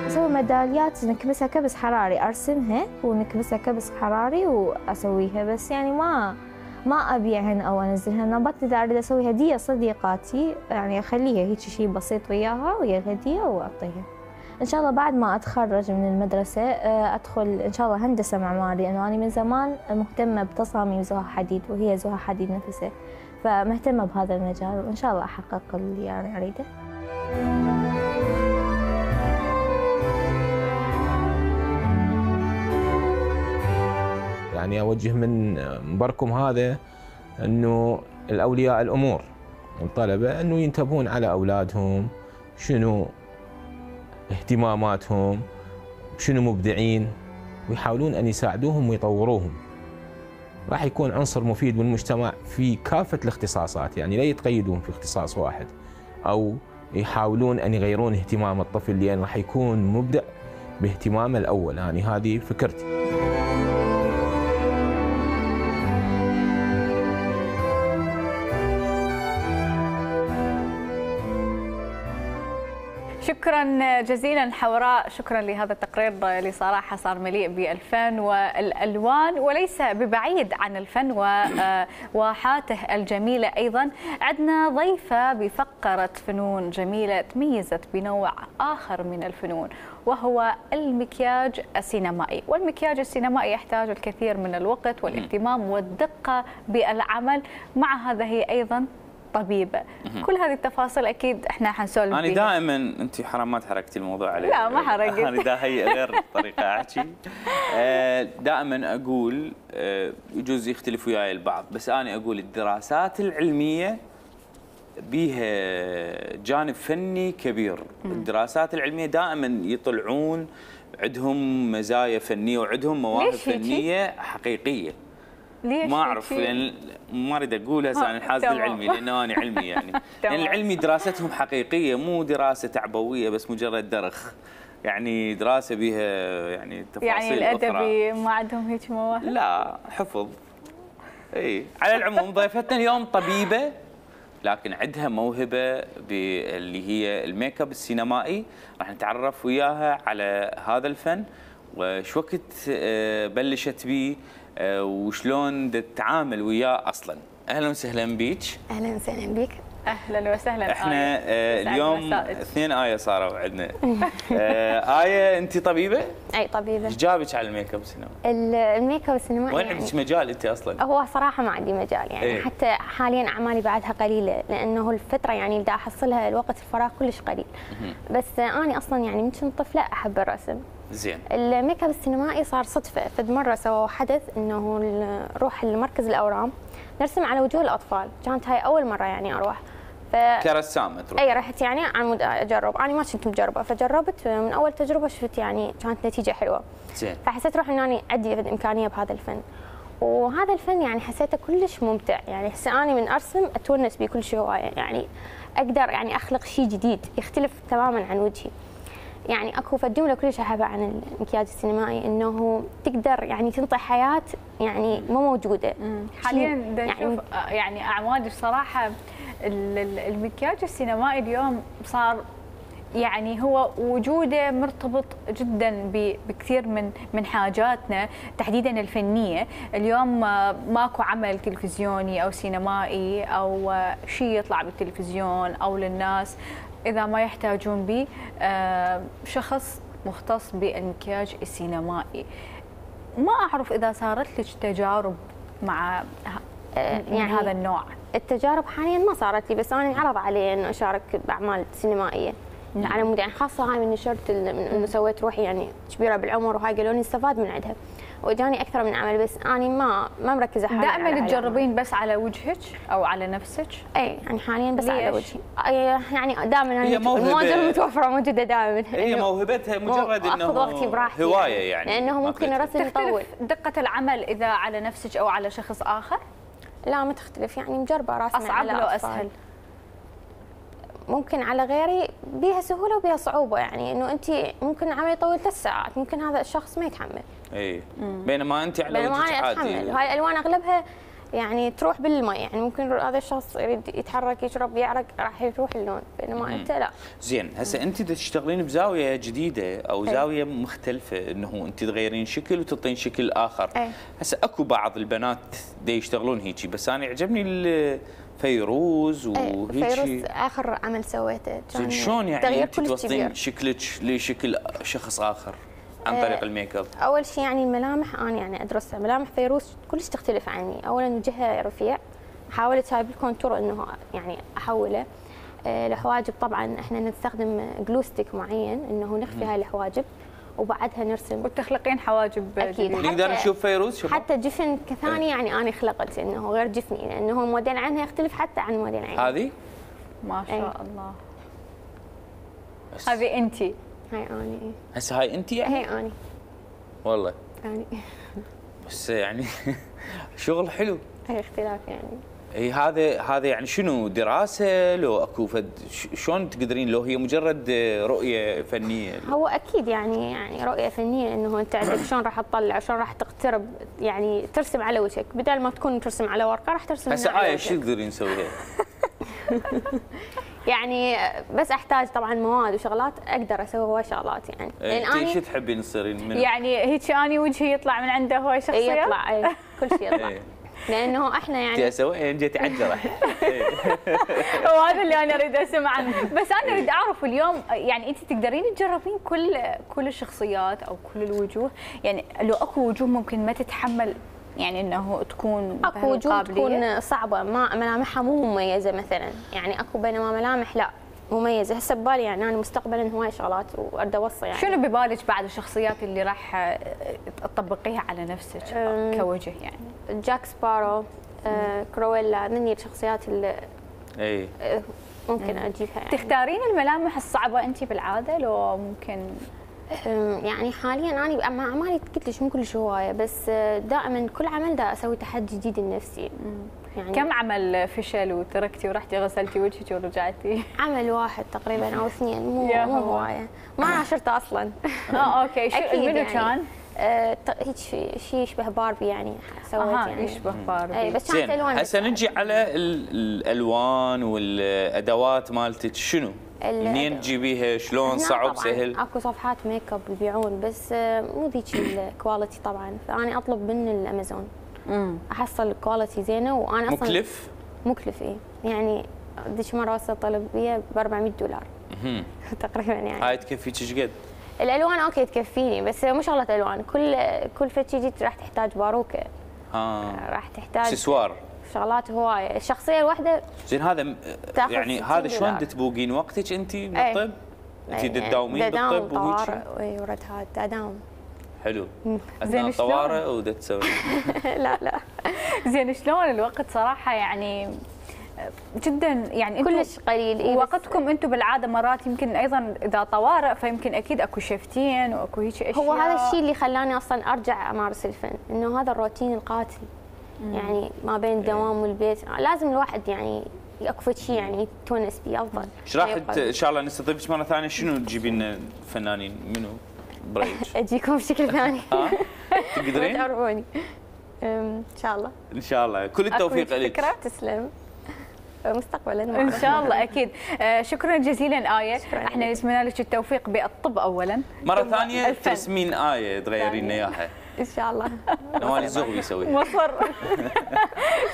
أسوي ميداليات نكبسها كبس حراري، أرسمها ونكبسها كبس حراري وأسويها، بس يعني ما ما أبيعهن أو أنزلهن. نبات إذا أريد أسوي هدية صديقاتي يعني أخليها هيك شيء بسيط وياها ويا الهدية وأعطيها. إن شاء الله بعد ما أتخرج من المدرسة أدخل إن شاء الله هندسة معماري، لأنه أنا من زمان مهتمة بتصاميم زها حديد، وهي زها حديد نفسها، فمهتمة بهذا المجال، وإن شاء الله أحقق اللي يعني أريده. يعني أوجه من منبركم هذا أنه الأولياء الأمور والطلبة أنه ينتبهون على أولادهم، شنو اهتماماتهم، شنو مبدعين، ويحاولون أن يساعدوهم ويطوروهم. راح يكون عنصر مفيد بالمجتمع في كافة الاختصاصات، يعني لا يتقيدون في اختصاص واحد أو يحاولون أن يغيرون اهتمام الطفل، لأن راح يكون مبدع باهتمامه الأول. يعني هذه فكرتي. شكرا جزيلا حوراء، شكرا لهذا التقرير اللي صراحة صار مليء بالفن والألوان، وليس ببعيد عن الفن وواحاته الجميلة. أيضا عندنا ضيفة بفقرة فنون جميلة تميزت بنوع آخر من الفنون، وهو المكياج السينمائي. والمكياج السينمائي يحتاج الكثير من الوقت والاهتمام والدقة بالعمل، مع هذا هي أيضا طبيبة. كل هذه التفاصيل اكيد احنا حنسولف انا دائما انت حرام ما تحركتي الموضوع علي. لا ما حركت. انا دا هي غير طريقه احكي. دائما اقول يجوز يختلف وياي البعض، بس انا اقول الدراسات العلميه بيها جانب فني كبير. الدراسات العلميه دائما يطلعون عندهم مزايا فنيه وعندهم مواهب فنيه حقيقيه. ليش ما اعرف، لان ما اريد اقول هسه عن الحاسب العلمي لانه انا علمي يعني. لان العلمي دراستهم حقيقيه، مو دراسه تعبويه بس مجرد درخ، يعني دراسه بها يعني تفاصيل يعني الادبي ما عندهم هيك مواهب؟ لا حفظ. اي على العموم ضيفتنا اليوم طبيبه لكن عندها موهبه اللي هي الميك اب السينمائي. راح نتعرف وياها على هذا الفن وش وقت بلشت به وشلون تتعامل وياه اصلا. اهلا وسهلا بيك. اهلا وسهلا بك. اهلا وسهلا. احنا آه اليوم اثنين آية صاروا عندنا. آه آية انت طبيبه؟ اي طبيبه. ايش جابك على الميك اب السينمائي؟ الميك اب السينمائي وين عندك يعني مجال انت اصلا؟ هو صراحه ما عندي مجال يعني ايه؟ حتى حاليا اعمالي بعدها قليله، لانه الفتره يعني بدي احصلها الوقت الفراغ كلش قليل. بس انا اصلا يعني من كنت طفله احب الرسم. زين. الميك اب السينمائي صار صدفه، فد مره سووا حدث انه نروح لمركز الاورام نرسم على وجوه الاطفال، كانت هاي اول مره يعني اروح. ف... كرسامه تروح؟ اي رحت يعني عن مود اجرب، انا ما كنت مجربه فجربت من اول تجربه شفت يعني كانت نتيجه حلوه. زين. فحسيت روحي اني عندي امكانيه بهذا الفن، وهذا الفن يعني حسيته كلش ممتع، يعني هسه انا من ارسم اتونس به كل شيء هوايه، يعني اقدر يعني اخلق شيء جديد يختلف تماما عن وجهي. يعني اكو فجمله كلش احبها عن المكياج السينمائي انه تقدر يعني تنطي حياه يعني مو موجوده. حاليا يعني يعني اعمال بصراحه المكياج السينمائي اليوم صار يعني هو وجوده مرتبط جدا بكثير من من حاجاتنا تحديدا الفنيه. اليوم ماكو عمل تلفزيوني او سينمائي او شيء يطلع بالتلفزيون او للناس اذا ما يحتاجون به شخص مختص بالمكياج السينمائي. ما اعرف اذا صارت لك تجارب مع يعني هذا النوع. التجارب حاليا ما صارت لي، بس انا انعرض علي انه اشارك باعمال سينمائيه. نعم. على مود يعني خاصه هاي من نشرت انه سويت روحي يعني كبيره بالعمر وهاي قالوا لي استفاد من عندها. واجاني اكثر من عمل، بس اني ما ما مركزه حاليا. دائما تجربين بس على وجهك او على نفسك؟ اي يعني حاليا بس ليش؟ على وجهي. يعني دائما هي موهبة. المواجهه متوفره موجوده دائما. هي موهبتها مجرد انه اخذ وقتي براحتي هوايه يعني، لانه ممكن الرسم يطول. دقه العمل اذا على نفسك او على شخص اخر؟ لا ما تختلف، يعني مجربه راسم اصعب على لو أطفال. اسهل؟ ممكن على غيري بيها سهوله وبيها صعوبه، يعني انه انت ممكن العمل يطول ثلاث ساعات، ممكن هذا الشخص ما يتحمل. اي بينما انت على بينما وجهك انا عادي. اتحمل، وهاي الالوان اغلبها يعني تروح بالماء، يعني ممكن هذا الشخص يريد يتحرك يشرب يعرق راح يروح اللون، بينما مم. انت لا. زين، هسه انت تشتغلين بزاويه جديده او أي. زاويه مختلفه، انه انت تغيرين شكل وتعطين شكل اخر. أي. هسه اكو بعض البنات دي يشتغلون هيجي، بس انا يعجبني فيروز وهيجي. فيروز اخر عمل سويته زين شلون يعني انت توصلين شكلك لشكل شخص اخر عن طريق أه الميك اب؟ اول شيء يعني الملامح انا يعني ادرسها، ملامح فيروز كلش تختلف عني. اولا وجهها رفيع، حاولت هاي بالكونتور انه يعني احوله. أه الحواجب طبعا احنا نستخدم جلو ستيك معين انه نخفي هاي الحواجب وبعدها نرسم وتخلقين حواجب. اكيد. نقدر نشوف فيروز شباب؟ حتى جفن كثاني يعني انا خلقت انه غير جفني، لانه موديل عينها يختلف حتى عن موديل عيني. هذه؟ ما شاء أي. الله. هذه انت؟ هاي اني. هسه هاي انت يعني؟ هي اني. والله. يعني. بس يعني شغل حلو. هي اختلاف يعني. اي هذا هذا يعني شنو دراسه لو اكو فد شلون تقدرين لو هي مجرد رؤيه فنيه؟ هو اكيد يعني يعني رؤيه فنيه انه انت عندك شلون راح تطلع شلون راح تقترب يعني ترسم على وجهك بدل ما تكون ترسم على ورقه راح ترسم هسه على آية وجهك. شو تقدرين نسويها؟ يعني بس احتاج طبعا مواد وشغلات اقدر اسوي هواي شغلات يعني. لان انت شو تحبين تصيرين منه؟ يعني هيك اني وجهي يطلع من عنده هواي شخصيه؟ يطلع اي كل شيء يطلع. لانه احنا يعني جيت اسوي جيت عجره. وهذا اللي انا اريد اسمعه، بس انا اريد اعرف اليوم يعني انت تقدرين تجربين كل كل الشخصيات او كل الوجوه، يعني لو اكو وجوه ممكن ما تتحمل يعني انه تكون اكو وجوه تكون صعبه ما ملامحها مو مميزه مثلا، يعني اكو بينما ملامح لا مميزه. هسه ببالي يعني انا مستقبلا هواي شغلات واريد اوصي يعني. شنو ببالك بعد الشخصيات اللي راح تطبقيها على نفسك كوجه يعني؟ جاك سبارو، آه، كرويلا، ذني الشخصيات اللي اي ممكن اجيبها يعني. تختارين الملامح الصعبه انت بالعاده لو ممكن؟ يعني حاليا انا مع اعمالي قلت لك مو كلش هوايه، بس دائما كل عمل دا اسوي تحدي جديد لنفسي. يعني كم عمل فشل وتركتي ورحتي غسلتي وجهك ورجعتي؟ عمل واحد تقريبا او اثنين، مو مو هوايه، ما عاشرته اصلا. اه اوكي. شو منو يعني كان؟ آه هيك شيء يشبه باربي يعني سويت آه يعني يشبه باربي. اي بس كانت الوان. هسه نجي على الالوان والادوات مالتك، شنو؟ منين تجيبيها؟ شلون؟ صعب سهل؟ اكو صفحات ميك اب يبيعون بس مو ذيك الكواليتي طبعا، فانا اطلب من الامازون. امم احصل الكواليتي زينه وانا اصلا مكلف؟ مكلف اي يعني ذيك مره وصلت طلب بيه ب أربعمية دولار تقريبا يعني. هاي تكفيك ايش قد؟ الالوان اوكي تكفيني، بس مو شغله الوان، كل كل فتشي جيت راح تحتاج باروكه. اه راح تحتاج اكسسوار شغلات هوايه. الشخصيه الواحده زين هذا يعني هذا شلون تبوقين وقتك انت بالطب؟ انت تداومين بالطب وهيك؟ اي ورد هذا اداوم. حلو. زين طوارئ ودا تسوي؟ لا لا. زين شلون الوقت صراحه يعني جدا يعني كلش قليل. إيه وقتكم انتم بالعاده مرات يمكن ايضا اذا طوارئ فيمكن اكيد اكو شفتين واكو هيك اشياء. هو هذا الشيء اللي خلاني اصلا ارجع امارس الفن، انه هذا الروتين القاتل. مم. يعني ما بين الدوام والبيت لازم الواحد يعني اكو شيء يعني يتونس به افضل. ايش راح ان شاء الله نستضيفك مره ثانيه؟ شنو تجيبين لنا فنانين منو بريج؟ اجيكم بشكل ثاني. ها تقدرين؟ تعرفوني ان شاء الله. ان شاء الله كل التوفيق لك. فكره تسلم. مستقبلا ان شاء الله اكيد. آه شكرا جزيلا آية، احنا نتمنى لك التوفيق بالطب اولا، مره ثانيه ترسمين آية تغيرين لنا اياها ان شاء الله. نوال الزغبي يسويها. مصر.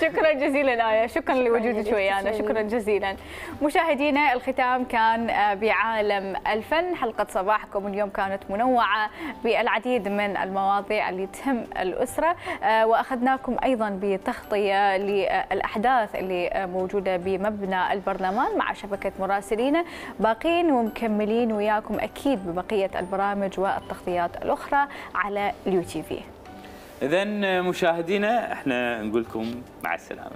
شكرا جزيلا آية، شكرا لوجودك ويانا، شكرا جزيلا. مشاهدينا الختام كان بعالم الفن، حلقة صباحكم اليوم كانت منوعة بالعديد من المواضيع اللي تهم الأسرة، وأخذناكم أيضا بتغطية للأحداث اللي موجودة بمبنى البرلمان مع شبكة مراسلينا، باقين ومكملين وياكم أكيد ببقية البرامج والتغطيات الأخرى على اليوتيوب. اذا مشاهدينا احنا نقول لكم مع السلامه.